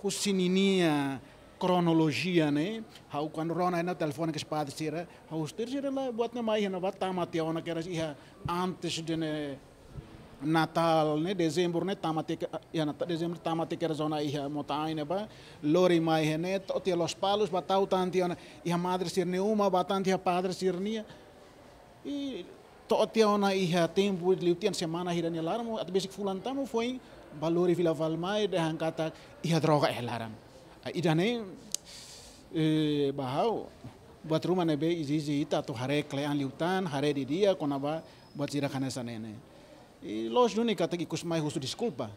husi ninia kronolojia ne'e, ha'u kuandu rona ona telefone kedas padre sira, ha'u husu tuir sira la buat ne'e mai iha ne'ebá tama tiha ona kedas iha antes de ne'e, Natál ne'e, Dezembru ne'e, tama tiha, iha Nata-, Dezembru tama tiha zona iha Mota-Ain ne'ebá, lori mai iha ne'e, to'o tiha Lospalos, bá tau tan tiha ona iha madre sira-nia uma, bá tan tiha padre sira-nia. I to'o tiha ona iha tempu liu tiha ona semana hira nia laran, atu besik fulan tama foin, bá lori fila fali mai, dehan katak iha droga iha laran. Ah, ida-ne'e, eh, ba ha'u, buat ruma ne'ebé ezije ita atu haree kle'an liután, haree didi'ak, kona-ba buat sira hanesan ne'e ne'e. I loos duni katak ikus mai husu deskulpa.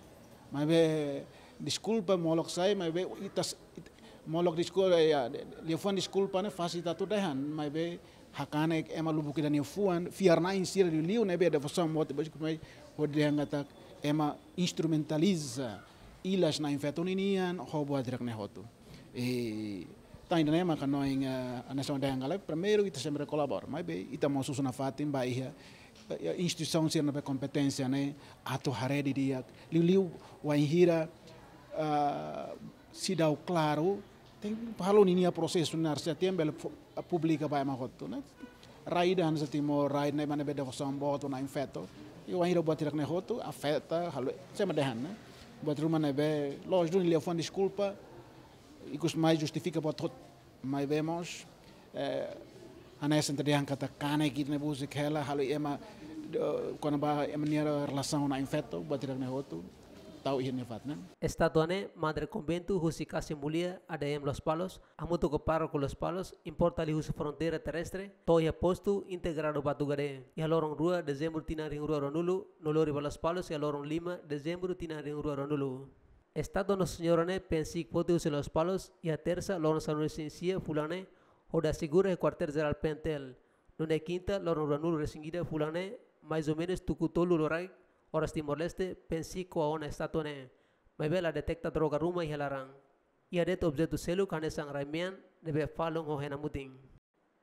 Maibé deskulpa molok sai, maibé ita s-, it-, molok deskulpa, ya, de-, de-, liafuan deskulpa ne'e fásil ita atu dehan, maibé hakanek ema lubuk ida-ne'e fuan, fiar-na'in sira liuliu ne'ebé devosaun boot, depois ikus mai hodi dehan katak ema instrumentaliza ilas na'in-feto ninian ho buat hirak-ne'e hotu. I tan ida-ne'e maka ha'u hanoin, eh, hanesan dehan karik, primeiru ita sempre kolabora, maibé ita mós husu nafatin ba iha, eh, instituisaun sira ne'ebé kompeténsia ne'e atu haree didi'ak, liuliu wainhira, ah, seidauk klaru, tenke halo ninia prosesu ne'e haree se atu bele pu-, publika ba ema hotu, ne'e. Rai ida hanesan Timor, rai ne'e ema ne'ebé devosaun boot ho na'in-feto. I wainhira buat hirak-ne'e hotu afeta, halo, se ema dehan, ne'e. Buat ruma ne'ebé, loos duni liafuan deskulpa, ikus mai justifika buat hotu. Maibé mós, eh, hanesan ita dehan katak kanek ida-ne'e busik hela, halo ema, eh, kona-ba ema nia relasaun na'in-feto, buat hirak-ne'e hotu, tau iha nia fatin, ne'e. Estátua ne'e, Madre Konventu husi Kasih Mulia, A D M Lospalos, hamutuk ho Pároku Lospalos, importa liuhusi fronteira terrestre, to'o iha postu integradu Batu Gadé, iha loron rua Dezembru tinan rihun rua ruanulu, no lori ba Lospalos iha loron lima Dezembru tinan rihun rua ruanulu. Estátua Nossa Senhora ne'e pensiik foti husi Lospalos, iha Tersa, loron sanulu-resin-sia fulan ne'e, hodi asegura iha Kuartél Jerál PNTL. Nune'e Kinta, loron ruanulu-resin-ida fulan ne'e, mais ou menus tuku tolu loraik, oras Timor-Leste, pensiik ko'a ona estátua ne'e. Maibé la deteta droga ruma iha laran. Iha de'it objetu seluk hanesan rai-mean ne'ebé falun ho hena mutin.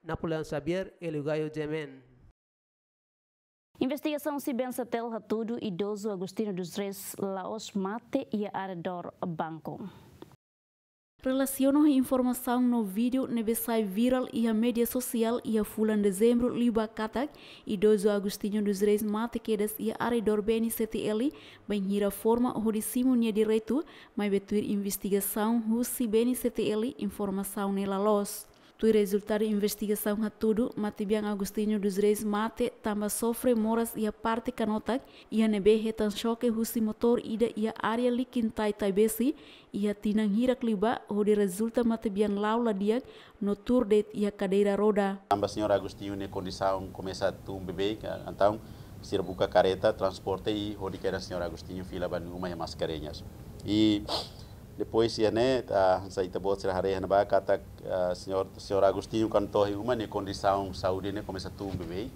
Napoleão Xavier, Hélio Gaio, G M N. Investigasaun husi BNCTL hatudu idozu Agostinho dos Reis la'ós mate iha arredór banku. Relasiona ho informasaun no vídeo ne'ebé sai virál iha média sosiál iha fulan Dezembru liubá katak, idozu Agostinho dos Reis mate kedas iha arredór BNCTL, bainhira forma hodi simu nia direitu, maibé tuir investigasaun husi BNCTL informasaun ne'e la loos. Tuir rezultadu investigasaun hatudu, matebian Agostinho dos Reis mate tanba sofre moras iha parte kanotak, iha ne'ebé hetan xoke husi motór ida iha área Likintai Taibesi, iha tinan hirak liubá, hodi rezulta matebian la'o la di'ak no tuur de'it iha kadeira roda. Tanba señór Agostinho nia kondisaun komesa tun beibeik, entaun sira buka kareta transporte i hodi kedas señór Agostinho fila ba nia uma iha Mascarenhas. I depois iha ne'e, ah, hanesan ita-boot sira haree iha ne'ebá katak, ah, señór, señór Agostinho kuandu to'o iha uma nia kondisaun saúde ne'e komesa tun beibeik.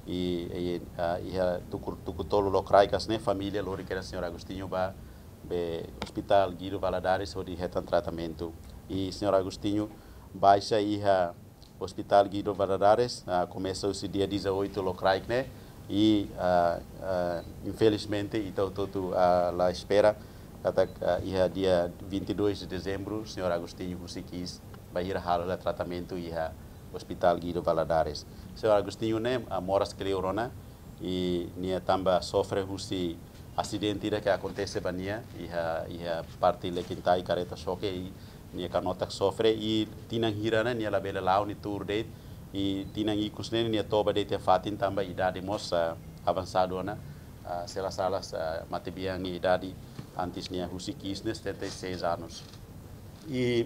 I, i, ah, iha tuku, tuku tolu lokraik hanesan ne'e família lori kedas señór Agostinho ba, ba Hospital Guido Valadares hodi hetan tratamentu. I señór Agostinho baixa iha Hospital Guido Valadares, ah, komesa husi dia dezoito lokraik ne'e, i, ah, ah, infelizmente, ita hotu-hotu, ah, la espera, katak, ah, iha dia vinte e dois de dezembro, señór Agostinho husik iis, bainhira halo hela tratamentu iha Hospital Guido Valadares. Señór Agostinho ne'e, ah, moras kleur ona, i nia tanba sofre husi asidente ida ke akontese ba nia, iha, iha parte Likintai kareta xoke i nia kanotak sofre, i tinan hira ne'e nia labele la'o nia tuur de'it, i tinan ikus ne'e nia toba de'it iha fatin tanba idade mós, ah, avansadu ona, ah, se la sala, ah, matebian nia idade antes nia husik iis ne'e setenta e seis anos. I,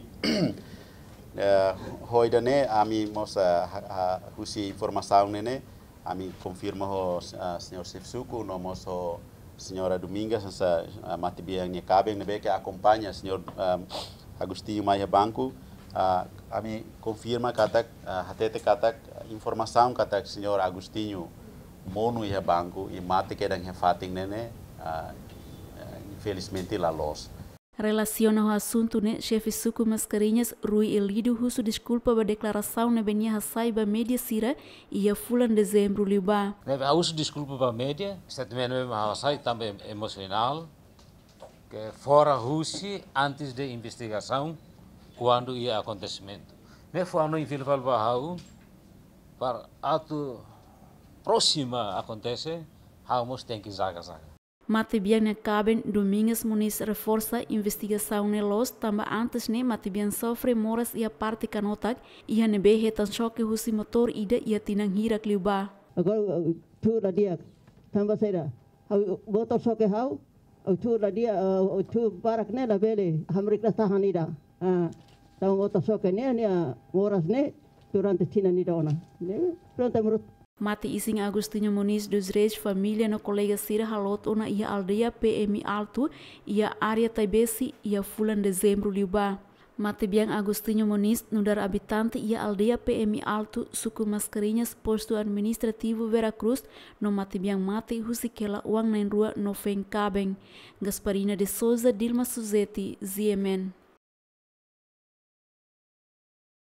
eh, ho ida-ne'e ami mós, ah, ha, ha, husi informasaun ne'e ne'e, ami konfirma ho, ah, señór xefe suku, no mós ho señora Domingas, hanesan, ah, matebian nia kaben ne'ebé ke akompaña señór, ah, Agostinho mai iha banku, ah, ami konfirma katak, ah, hatete katak, informasaun katak señór Agostinho monu iha banku i mate kedan iha fatin ne'e ne'e, ah, infelizmente la loos. Relasiona ho asuntu ne'e, xefe suku Mascarenhas, Rui Elidio, husu deskulpa ba deklarasaun ne'ebé nia hasai ba média sira iha fulan Dezembru liubá. Ne'ebé ha'u husu deskulpa ba média, statement ne'ebé mak ha'u hasai tanba emosionál, ke fora husi antes de investigasaun, kuandu iha akontesimentu. Ne'e fó hanoin fila fali ba ha'u, para atu prósima akontese, ha'u mós tenke zaga-zaga. Matebian nia kaben Domingas Moniz reforsa investigasaun ne'e loos tanba antes ne'e matebian sofre moras iha parte kanotak, iha ne'ebé hetan xoke husi motór ida iha tinan hirak liubá. Agora, eh, tuur la di'ak. Tanba saida? Ha'u boot xoke ha'u, ha'u tuur la di'ak, eh, ha'u tuur barak ne'e labele, hamriik la tahan ida. Ah, tanba boot xoke ne'e, nia moras ne'e, durante tinan ida ona. Ne'e, pronto, menurut Mate-isin Agostinho Moniz dos Reis família no kolega sira haloot ona iha aldeia P M Alto, iha área Taibesi, iha fulan Dezembru liubá. Matebian Agostinho Moniz nu'udar abitante iha aldeia P M Alto, suku Mascarenhas, postu administrativu Vera Cruz, no matebian mate husik hela oan na'in-rua no feen kaben. Gasparina de Souza, Dilma Suzeti, Z M N.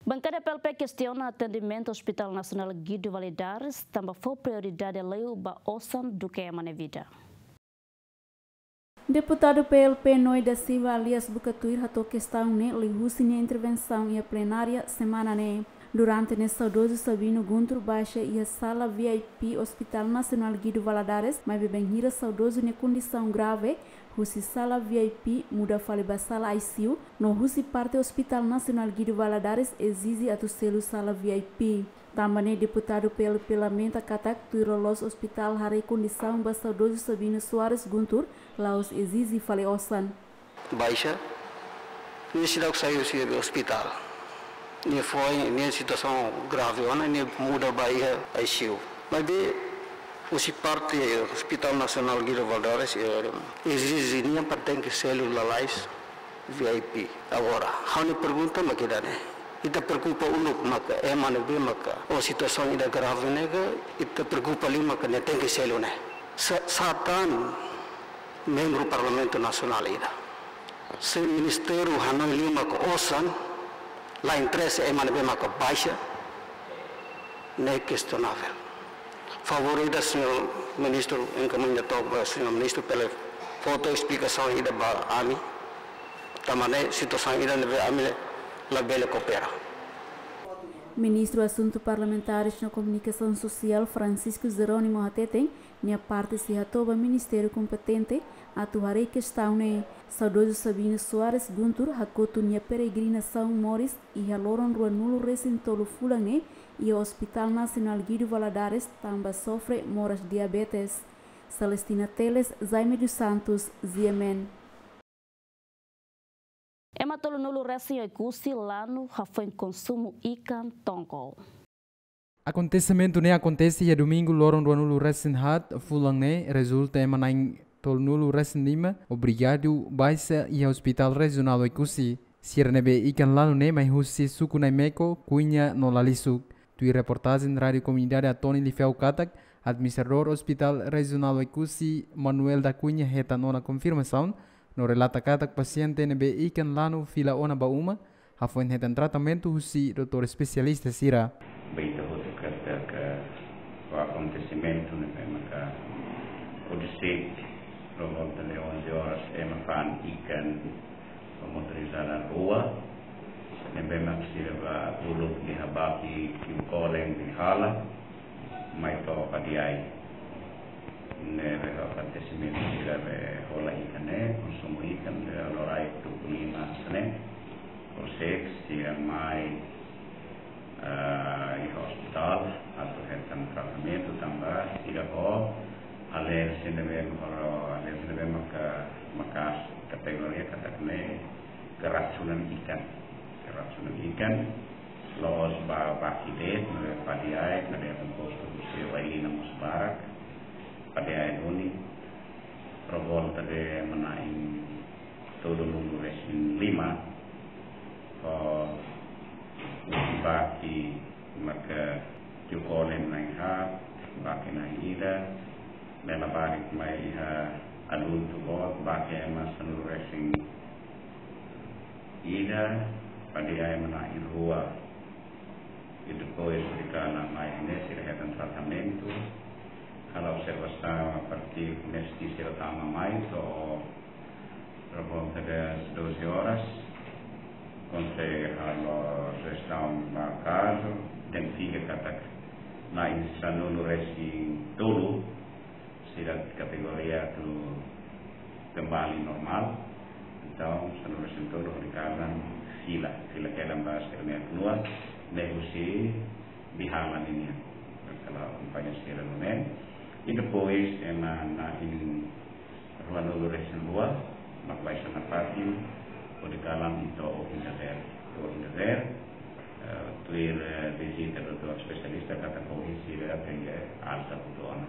Bankada P L P kestiona atendimentu Hospital Nasionál Guido Valadares, tanba fó prioridade liu ba osan duké ema nia vida. Deputadu P L P Noé da Silva alias Buka Tuir hato'o kestaun ne'e liuhusi nia intervensaun iha plenária semana ne'e. Durante ne'e saudozu Sabino Guntur baixa iha sala V I P Hospital Nasionál Guido Valadares, maibé bainhira saudozu nia kondisaun grave, husi sala V I P muda fali ba sala I C U, no husi parte Hospital Nasionál Guido Valadares ezije atu selu sala V I P. Tanba ne'e deputadu P L P lamenta katak tuir loloos ospitál haree kondisaun ba saudozu Sabino Soares Guntur, la'ós ezije fali osan. Baixa, nia seidauk sai husi ospitál. Nia foin, nia situasaun grave ona, nia muda ba iha I C U. Maibé husi parte Hospital Nasionál Guido Valadares, eh, ezije nia para tenke selu lalais V I P. Agora, ha'u-nia pergunta mak ida-ne'e. Ita preokupa uluk maka ema ne'ebé maka ho situasaun ida grave ne'e ka, ita preokupa liu maka nia tenke selu ne'e. Sa-, sá tan membru Parlamentu Nasionál ida. Se ministériu hanoin liu maka osan, la interesa ema ne'ebé maka baixa, ne'e kestionavel. Favór ida, señór ministru, enkaminha to'ok ba señór ministru para fó esplikasaun ida ba ami. Tanba ne'e situasaun ida ne'ebé ami labele koopera. Ministru Asuntu Parlamentares no Komunikasaun Sosiál Francisco Jerónimo hateten, nia parte sei hato'o ba ministériu kompetente atu haree kestaun ne'e. Saudozu Sabino Soares Guntur hakotu nia peregrinasaun moris iha loron ruanulu-resin-tolu fulan ne'e iha Hospital Nasionál Guido Valadares tanba sofre moras diabetes. Celestina Teles, Jaime dos Santos, Z M N. Ema tolunulu-resin-oekusi lanu hafoin konsumu ikan tongkol. Akontesimentu ne'e akontese iha domingu loron ruanulu-resin-haat fulan ne'e, rezulta ema na'in tolunulu-resin-lima obrigadu baixa iha Hospital Rejionál Oekusi. Sira ne'ebé ikan lanu ne'e mai husi suku Naimeko, Kuinha no Lalisuk. Tuir reportajen Rádiu Komunidade Atoni Lifeau katak, administradór Hospital Rejionál Oekusi, Manuel da Cunha, hetan ona konfirmasaun no relata katak pasiente ne'ebé ikan lanu fila ona ba uma, hafoin hetan tratamentu husi doutór espesialista sira. Beta hotu katak akontesimentu ne'ebé maka horiseik por volta de onze horas ema fa'an ikan ba motorizada rua, ne'ebé mak sira bá uluk iha Baki Kiu Kolen Dinghala, mai to'o Padiai. Ne'ebé akontesimentu sira be hola ikan ne'e, konsumu ikan be loraik tuku lima hanesan ne'e, horiseik sira mai, eh, iha ospitál atu hetan tratamentu tanba sira ho alerjia ne'ebé ho alerjia ne'ebé maka, maka kategoria katak ne'e keracunan ikan. Keracunan ikan, la'ós ba Baki de'it, ne'ebé Padiai, Padiai kompostu husi Wailina mós barak, Padiai duni, por volta de ema na'in tolunulu-resin-lima, ho Baki maka Kiu Kolen na'in haat, Baki na'in ida, ne'e labarik mai iha adultu boot, Baki ema sanulu-resin-ida, Padiai ema na'in rua. I depois de kana mai ne'e sira hetan tratamentu. Halo observasaun a partir ne'e sira tama mai to'o por volta das doze horas, konsege halo jestaun ba kazu, identifika katak na'in sanulu-resin-tolu, Ida kategoria atu kembali normál. Entaun, sanulu-resin-tolu hodi kalan fila, fila kedan ba sira-nia atu nua, ne'e husi bihalan nian. Kala akompaña sira nune'e. I depois, ema na'in ruanulu-resin-rua, mak baixa na pátiu, hodi kalan ita ohin dadeer. Ita ohin dadeer, eh, tuir, eh, vizita doutór espesialista, katak ohin sira tenke alta hotu ona.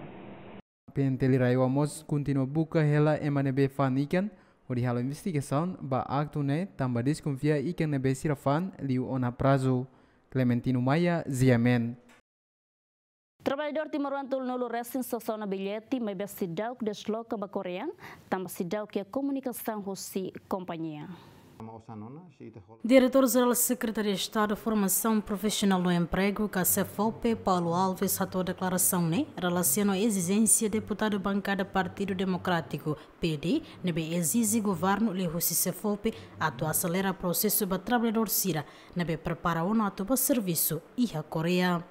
P N T L RAEOA mós kontinua buka hela ema ne'ebé fa'an ikan, hodi halo investigasaun ba aktu ne'e, tanba deskonfia ikan ne'ebé sira fa'an liu ona prazu. Clementino Maia, G M N. Traballadór timoroan tolunulu-resin sasán ona billete, maibé seidauk desloka ba Koreia, tanba seidauk iha komunikasaun husi kompañia. Diretór Jerál Sekretaria Estadu Formasaun Profisionál no Empregu, ka SEFOPE, Paulo Alves, hato'o deklarasaun ne'e relasiona ezijénsia deputadu bankada Partidu Demokrátiku, P D, ne'ebé ezije governu liuhusi SEFOPE atu aselera prosesu ba traballadór sira ne'ebé prepara ona atu ba servisu iha Koreia.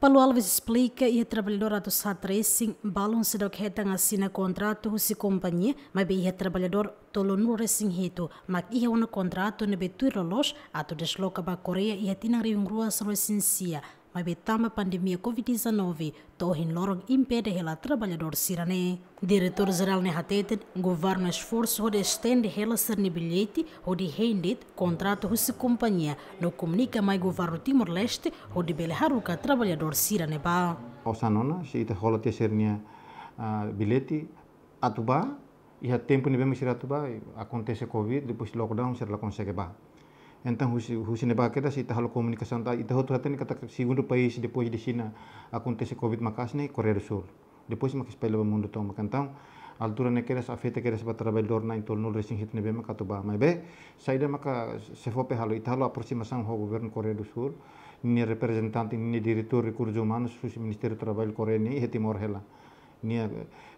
Paulo Alves esplika, iha traballadór atus haat resin balun seidauk hetan asina kontratu husi kompañia, maibé iha traballadór tolunulu-resin-hitu mak iha ona kontratu ne'ebé tuir loloos atu desloka ba Koreia iha tinan rihun rua sanulu-resin-sia, maibé tanba pandemia covid dezanove to'o ohin loron impede hela traballadór sira-ne'e. Diretór Jerál ne'e hateten, governu esforsu hodi estende hela sira-nia billete, hodi hein de'it kontratu husi kompañia, no komunika mai governu Timor-Leste, hodi bele haruka traballadór sira-ne'e bá. Osan ona, se ita hola tiha sira-nia, ah, billete, atu bá, iha tempu ne'ebé mak sira atu bá, akontese covid, depois lockdown, sira la konsege bá. Entaun, husi, husi ne'ebá kedas, se ita halo komunikasaun, ta, ita hotu hatene katak segundu país depois de Xina akontese covid maka'as ne'e Koreia do Sul. Depois mak espalla ba mundu tomak. Entaun, altura ne'e kedas afeta kedas ba traballadór na'in tolunulu-resin-hitu ne'ebé mak atu bá. Maibé, saida maka SEFOPE halo, ita halo aproximasaun ho governu Koreia do Sul, nia reprezentante, nia diretór rekursus umanus husi Ministériu Traballu Koreia ne'e iha Timor hela. Nia,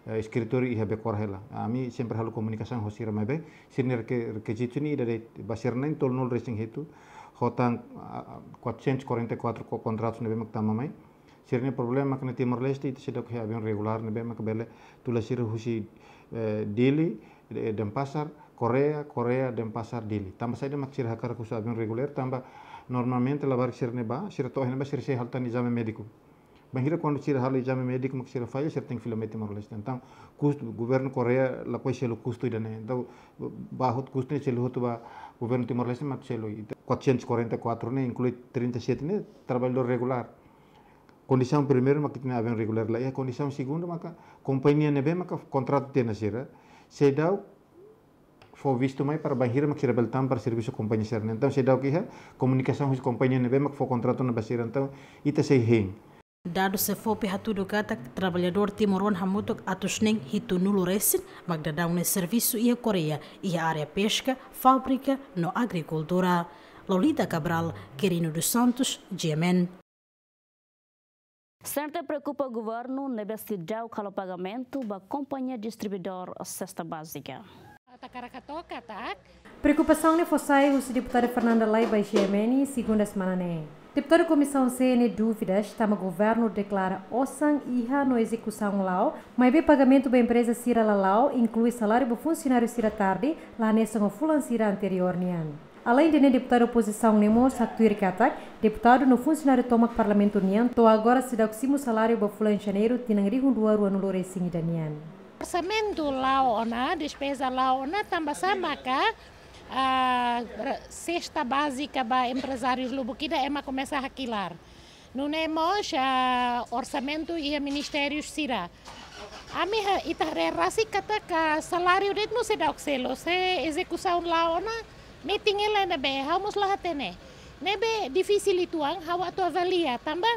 eh, eskritóriu iha Bekor hela. Ami sempre halo komunikasaun ho sira, maibé sira-nia reke-, rekizitu ne'e ida de'it, ba sira na'in tolunulu-resin-hitu, ho tan, ah, quatrocentos e quarenta e quatro ko-, kontratus ne'ebé mak tama mai. Sira-nia problema mak iha Timor-Leste, ita seidauk iha aviaun regulár ne'ebé mak bele tula sira husi, eh, Dili, eh, Denpasar, Koreia, Koreia, Denpasar, Dili. Tanba saida mak sira hakarak uza aviaun regulár, tanba normalmente labarik sira-ne'e bá, sira to'o iha ne'ebá sira sei halo tan ezame médiku. Bainhira kuandu sira halo ezame médiku mak sira falla, sira tenke fila mai Timor-Leste. Entaun, kustu, governu Koreia lakohi selu kustu ida-ne'e. Entaun, bá hotu kustu ne'e selu hotu ba governu Timor-Leste mak selu. Ita quatrocentos e quarenta e quatro ne'e, inklui trinta e sete ne'e traballadór regulár. Kondisaun primeiru mak ita-nia aviaun regulár la iha, kondisaun segundu maka kompañia ne'ebé maka kontratu tiha ona sira, seidauk fó vistu mai para bainhira mak sira bele tama para servisu kompañia sira-ne'e. Entaun, seidauk iha komunikasaun husi kompañia ne'ebé mak fó kontratu ona ba sira. Entaun, ita sei hein. Dadus SEFOPE hatudu katak traballadór timoroan hamutuk atus neen hitunulu-resin mak daudaun ne'e servisu iha Koreia, iha área peska, fábrika no agrikultura. Lolita Cabral, Quirino dos Santos, G M N. CNRT preokupa governu ne'ebé seidauk halo pagamentu ba kompañia distribuidór sesta bázika. Ita hakarak hato'o katak. Preokupasaun ne'e fó sai husi deputada Fernanda Lay ba G M N, segunda semana ne'e. Deputada Komisaun C nia dúvidas tanba governu deklara osan iha no ezekusaun la'o, maibé pagamentu ba empreza sira la la'o, inklui saláriu ba funsionáriu sira tarde, la hanesan ho fulan sira anteriór nian. Aleinde ne'e, deputadu opozisaun ne'e mós haktuir katak deputadu no funsionáriu tomak Parlamentu nian to'o agora seidauk simu saláriu ba fulan Janeiru tinan rihun rua ruanulu-resin-ida nian. Orsamentu la'o ona, despeza la'o ona, tanba sá maka, ah, re-, sesta bázika ba emprezárius lubuk ida ema komesa hakilar. Nune'e mós, ah, orsamentu iha ministériu sira. Ami ha-, ita haree rasik katak saláriu de'it mós seidauk selu, se ezekusaun la'o ona, metin hela ne'ebé, ha'u mós la hatene. Ne'ebé difisil uitoan, ha'u atu avalia, tanba,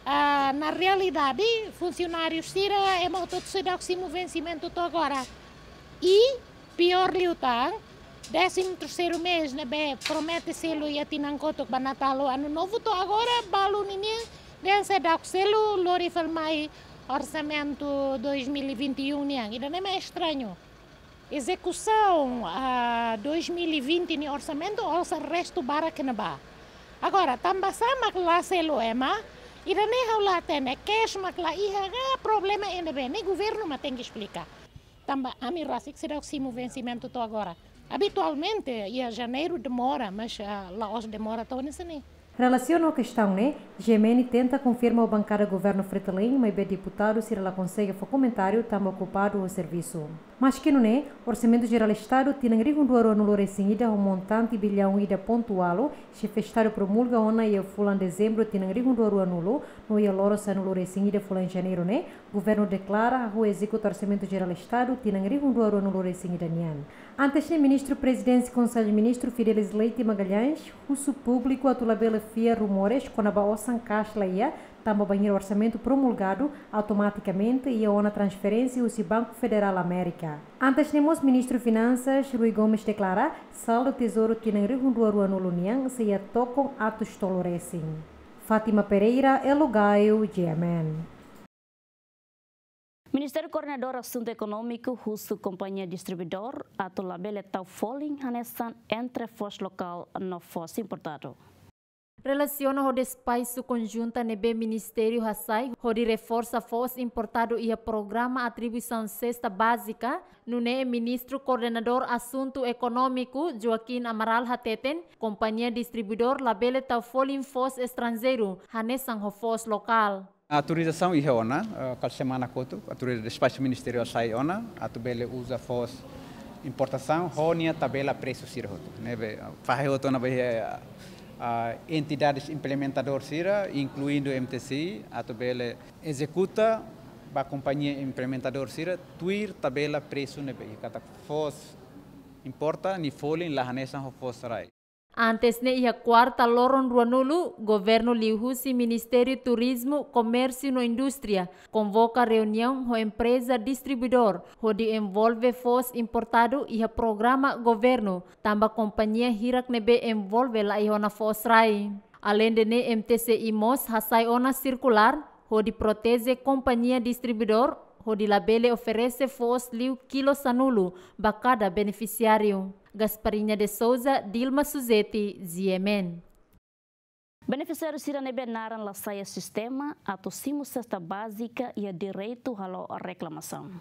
ah, na realidade, funsionáriu sira, ema hotu seidauk simu vensimentu to'o agora. I piór liután, décimo terceiro mês ne'ebé promete selu iha tinan kotuk ba Natál ho Ano Novo to'o agora balu ninian dehan seidauk selu, lori fali mai orsamentu dois mil e vinte e um nian. Ida-ne'e mak estrañu. Ezekusaun, ah, dois mil e vinte nia orsamentu, osan restu barak ne'ebá. Agora, tanba sá mak la selu ema, Ida-ne'e ha'u la hatene, cash mak la iha, ka problema ne'ebé, ne'e governu mak tenke esplika. Tanba ami rasik seidauk simu vensimentu to'o agora. Abitualmente, iha Janeiru demora, mas, ah, la'ós demora to'o hanesan ne'e. Relasiona ho kestaun ne'e, G M N tenta konfirma ho bankada governu Fretilin, maibé deputadu sira la konsege fó komentáriu tanba okupadu ho servisu. Maski nune'e, Orsamentu Jerál Estadu tinan rihun rua ruanulu-resin-ida ho montante billaun ida pontu ualu, Xefe Estadu promulga ona iha fulan Dezembru tinan rihun rua ruanulu, no iha loron sanulu-resin-ida fulan Janeiru ne'e, governu deklara hahú ezekuta Orsamentu Jerál Estadu tinan rihun rua ruanulu-resin-ida nian. Antes ne'e, Ministru Prezidénsia Konsellu Ministru Fidelis Leite Magalhães husu públiku atu labele fiar rumores kona-ba osan cash la iha, tanba bainhira orsamentu promulgadu, automatikamente iha ona transferénsia husi Banku Federál Amérika. Antes ne'e mós, Ministru Finansas Rui Gomes deklara, saldu tezouru tinan rihun rua ruanulu nian sei iha tokon atus tolu resin. Fátima Pereira, Elo Gaio, G M N. Ministériu Koordenadór Asuntu Ekonómiku husu kompañia distribuidór atu labele tau folin hanesan entre foos lokál no foos importadu. Relasiona ho despaisu konjunta ne'ebé ministériu hasai hodi reforsa foos importadu iha programa atribuisaun sesta bázika, nune'e Ministru Koordenadór Asuntu Ekonómiku Joaquim Amaral hateten, kompañia distribuidór labele tau folin foos estranjeiru hanesan ho foos lokál. Autorizasaun iha ona, eh, kala semana kotuk, autorizasaun despaxu ministeriál sai ona, atu bele uza foos importasaun, ho nia tabela presu sira hotu. Ne'ebé, fahe hotu ona ba iha, ah, entidades implementadór sira, inkluindu M T C I, atu bele ezekuta ba kompañia implementadór sira, tuir tabela presu ne'ebé, katak foos importa, nia folin la hanesan ho foos rai. Antes ne'e iha kuarta loron ruanulu, governu liuhusi Ministériu Turizmu, Komérsiu no Indústria konvoka reuniaun ho empreza distribuidór, hodi envolve foos importadu iha programa governu, tanba kompañia hirak ne'ebé envolve la iha ona foos rai. Aleinde ne'e, M T C I mós hasai ona sirkulár, hodi proteje kompañia distribuidór, hodi labele oferese foos liu kilo sanulu ba kada benefisiáriu. Gasparinha de Souza, Dilma Suzeti, G M N. Benefisiáriu sira ne'ebé naran la sai iha sistema atu simu sesta bázika iha direitu halo reklamasaun.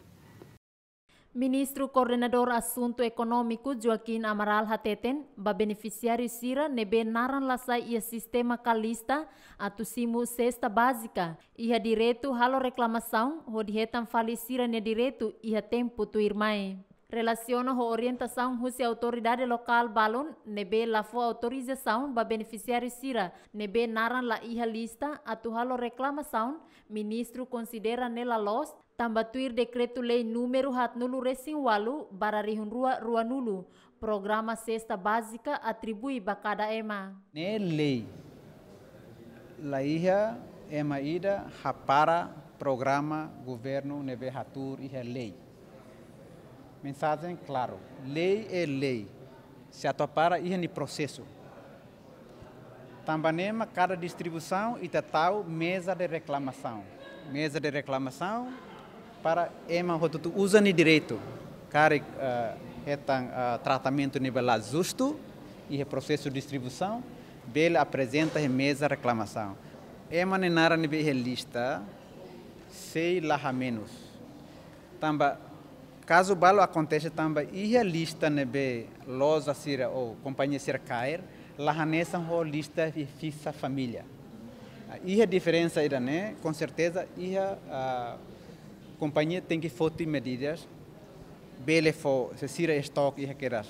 Ministru Koordenadór Asuntu Ekonómiku Joaquim Amaral hateten, ba benefisiáriu sira ne'ebé naran la sai iha sistema ka lista atu simu sesta bázika, iha direitu halo reklamasaun hodi hetan fali sira-nia direitu iha tempu tuirmai. Relasiona ho orientasaun husi autoridade lokál balun ne'ebé la fó autorizasaun ba benefisiáriu sira ne'ebé naran la iha lista atu halo reklamasaun, ministru konsidera ne'e la loos, tanba tuir Dekretu-Lei númeru haatnulu-resin-ualu barra rihun rua ruanulu, programa sesta bázika atribui ba kada ema. Ne'e lei. La iha ema ida hapara programa governu ne'ebé hatuur iha lei. Mensajen klaru, lei é lei. Se atu hapara iha nia prosesu. Tanba ne'e mak kada distribuisaun ita tau meza de reklamasaun. Meza de reklamasaun para ema hotu-hotu uza nia direitu. Karik, eh, hetan, eh, tratamentu ne'ebé la justu, iha prosesu distribuisaun, bele aprezenta iha meza reklamasaun. Ema nia naran ne'ebé iha lista, sei la hamenus. Tanba kazu balu akontese tanba iha lista ne'ebé loja sira ou kompañia sira kaer, la hanesan ho lista fi-, fixa família. Ah, iha diferensa ida-ne'e, com certeza, iha, ah, kompañia tenke foti medidas, bele fó, se sira estok iha kedas,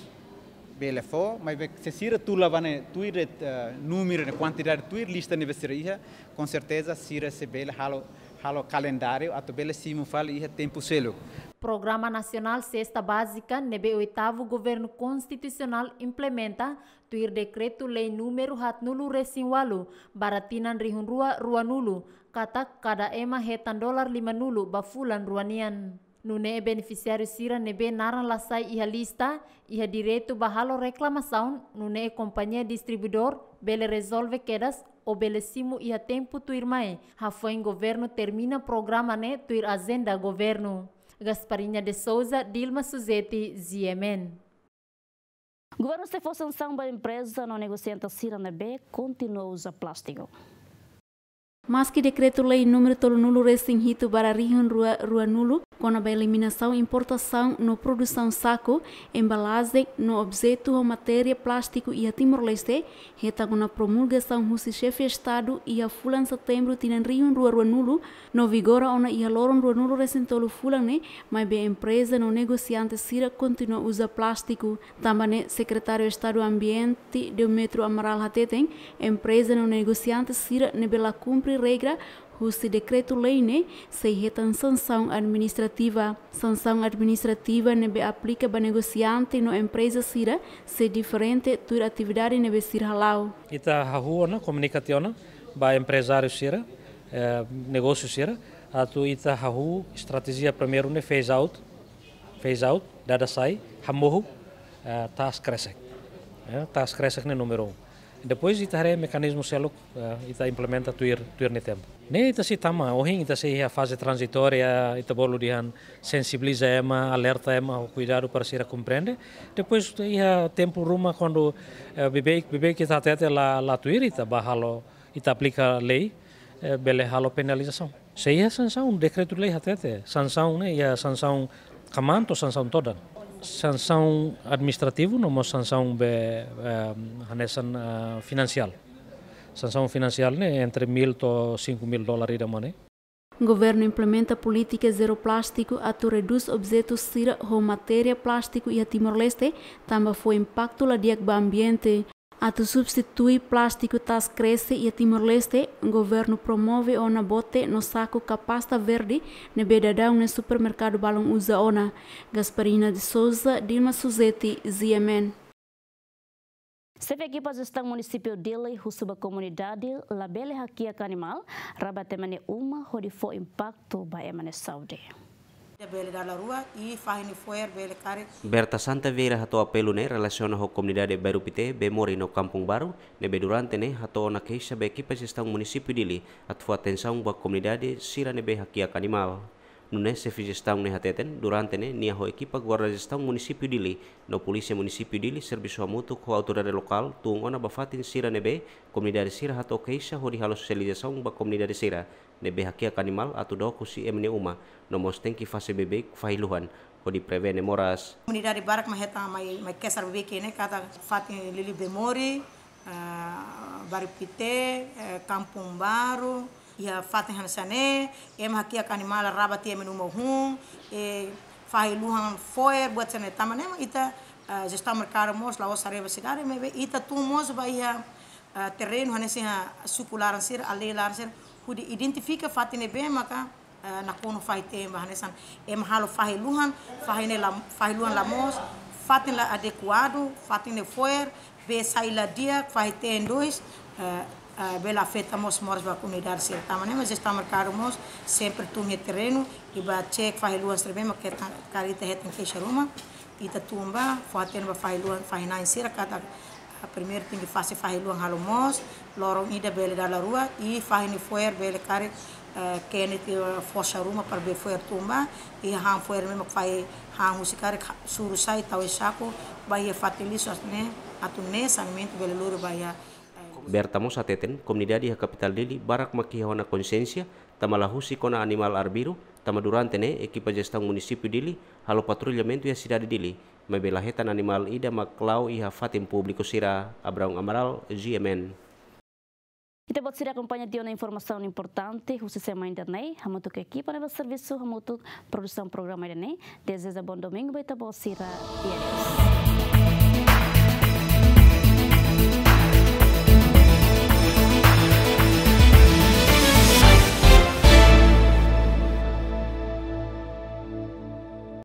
bele fó, maibé se sira tula ba ne'e, tuir, eh, númeru ne'e, kuantidade tuir lista ne'ebé sira iha, com certeza sira sei bele halo, halo kalendáriu atu bele simu fali iha tempu seluk. Programa Nasionál Sesta Bázika ne'ebé oitavu Governu Konstitusionál implementa, tuir Dekretu-Lei númeru haatnulu-resin-ualu barra tinan rihun rua ruanulu, katak kada ema hetan dolar limanulu ba fulan rua nian. Nune'e benefisiáriu sira ne'ebé naran la sai iha lista, iha direitu ba halo reklamasaun, nune'e kompañia distribuidór bele rezolve kedas ou bele simu iha tempu tuirmai, hafoin governu termina programa ne'e tuir ajenda governu. Gasparinha de Souza, Dilma Suzeti, G M N. Governu sei fó sansaun ba empreza no negosiante sira ne'ebé kontinua uza plástiku. Maski Dekretu-Lei númeru tolunulu-resin-hitu barra rihun rua ruanulu, kona-ba eliminasaun importasaun no produsaun saku, embalajen no objetu ho matéria plástiku iha Timor-Leste, hetan ona promulgasaun husi Xefe Estadu iha fulan Setembru tinan rihun rua ruanulu, no vigora ona iha loron ruanulu-resin-tolu fulan ne'e, maibé empreza no negosiante sira kontinua uza plástiku. Tanba ne'e, Sekretáriu Estadu Ambiente, Demetrio Amaral hateten, empreza no negosiante sira ne'ebé la kumpre regra husi dekretu-lei ne'e, sei hetan sansaun administrativa. Sansaun administrativa ne'ebé aplika ba negosiante no empreza sira sei diferente tuir atividade ne'ebé sira hala'o. Ita hahú ona, komunika tiha ona ba emprezáriu sira, eh, negósiu sira, atu ita hahú estratéjia primeiru ne'e phase out, phase out, dada sai, hamohu, eh, taas kresek. Eh, taas kresek ne'e númeru um. Depois ita haree mekanizmu seluk, eh, ita implementa tuir, tuir nia tempu. Ne'e ita sei tama, ohin ita sei iha faze tranzitória, ita bolu dehan sensibiliza ema, alerta ema, ho kuidadu para sira komprende. Depois iha tempu ruma kuandu, eh, beibeik, beibeik ita hatete la, la tuir, ita bá halo, ita aplika lei, eh, bele halo penalizasaun. Sei iha sansaun, dekretu-lei hatete, sansaun ne'e iha sansaun kamaan to'o sansaun todan. Sansaun administrativu no mós sansaun be, eh, hanesan, eh, finansiál. Sansaun finansiál ne'e entre mil to'o cinco mil dólar ida mane. Governu implementa polítika zero plástiku atu redús objetu sira ho matéria plástiku iha Timor-Leste, tanba fó impaktu la di'ak ba ambiente. Atu substitui plástiku taas kresek iha Timor-Leste, governu promove ona bote no saku kapasta verde ne'ebé daudaun ne'e supermerkadu balun uza ona. Gasparina de Souza, Dilma Suzeti, Z M N. Xefe ekipa jestaun munisípiu Dili husu ba komunidade labele hakiak animál, rabat ema nia uma hodi fó impaktu ba ema nia saúde. Bele dala rua i fahe nia fo'er bele karik. Berta Santa Vieira hato'o apelu ne'e relasiona ho komunidade Bairru Pité, Bemori no Kampung Baru, ne'ebé durante ne'e hato'o ona keixa ba ekipa jestaun munisípiu Dili atu fó atensaun ba komunidade sira ne'ebé hakiak animál. Nune'e xefe jestaun ne'e hateten, durante ne'e nia ho ekipa guarda jestaun munisípiu Dili no polísia munisípiu Dili servisu hamutuk ho autoridade lokál tun ona ba fatin sira ne'ebé komunidade sira hato'o keixa hodi halo sosializasaun ba komunidade sira ne'ebé hakiak animál atu dook husi ema nia uma, no mós tenke fase beibeik fahi luhan hodi prevene moras. Komunidade barak mak hetan mai, mai keixa beibeik ne'e katak fatin liuliu Bemori, ah, Bairru Pité, eh, Kampung Baru, iha fatin hanesan ne'e, ema hakiak animál rabat ema nia uma hun, eh, fahi luhan fo'er buat sira-ne'e tanba ne'e mak ita, eh, jestaun merkadu mós la'ós haree ba sidade, maibé ita tun mós ba iha, eh, terrenu hanesan iha suku laran sira, aldeia laran sira, hodi identifika fatin ne'ebé maka, eh, nakonu fahe-teen ba hanesan ema halo fahi luhan, fahi ne'e la, fahi luhan la moos, fatin la adekuadu, fatin ne'e fo'er, bee sai la di'ak, fahe-teen dois, eh, eh, bele afeta mós moras ba komunidade sira. Tanba ne'e mak jestaun merkadu mós sempre tun iha terrenu, i bá cek fahi luhan sira-ne'ebé mak karik ita hetan keixa ruma, ita tun bá, fó-hatene ba fahi luhan, fahi-na'in sira katak, ah, primeiru tenke fase fahi luhan halo moos, loron ida bele dala rua, i fahi nia fo'er bele karik, eh, kene tiha forsa ruma para bee fo'er tun bá, i han fo'er ne'ebé mak fahi han husi karik ha-, suru sai tau iha saku, bá iha fatin lixu atu ne'e, atu nune'e saneamentu bele lori ba iha, eh, Berta mós hateten, komunidade iha kapitál Dili barak mak iha ona konxiénsia, tanba la husik ona animál arbiru, tanba durante ne'e ekipa jestaun munisípiu Dili halo patrullamentu iha sidade Dili, maibé la hetan animál ida mak la'o iha fatin públiku sira. Abraão Amaral, G M N. Ita-boot sira akompaña tiha ona informasaun importante husi semana ida-ne'e, hamutuk ho ekipa ne'ebé servisu hamutuk produsaun programa ida-ne'e, dezeja bom domingu ba ita-boot sira, i adeus.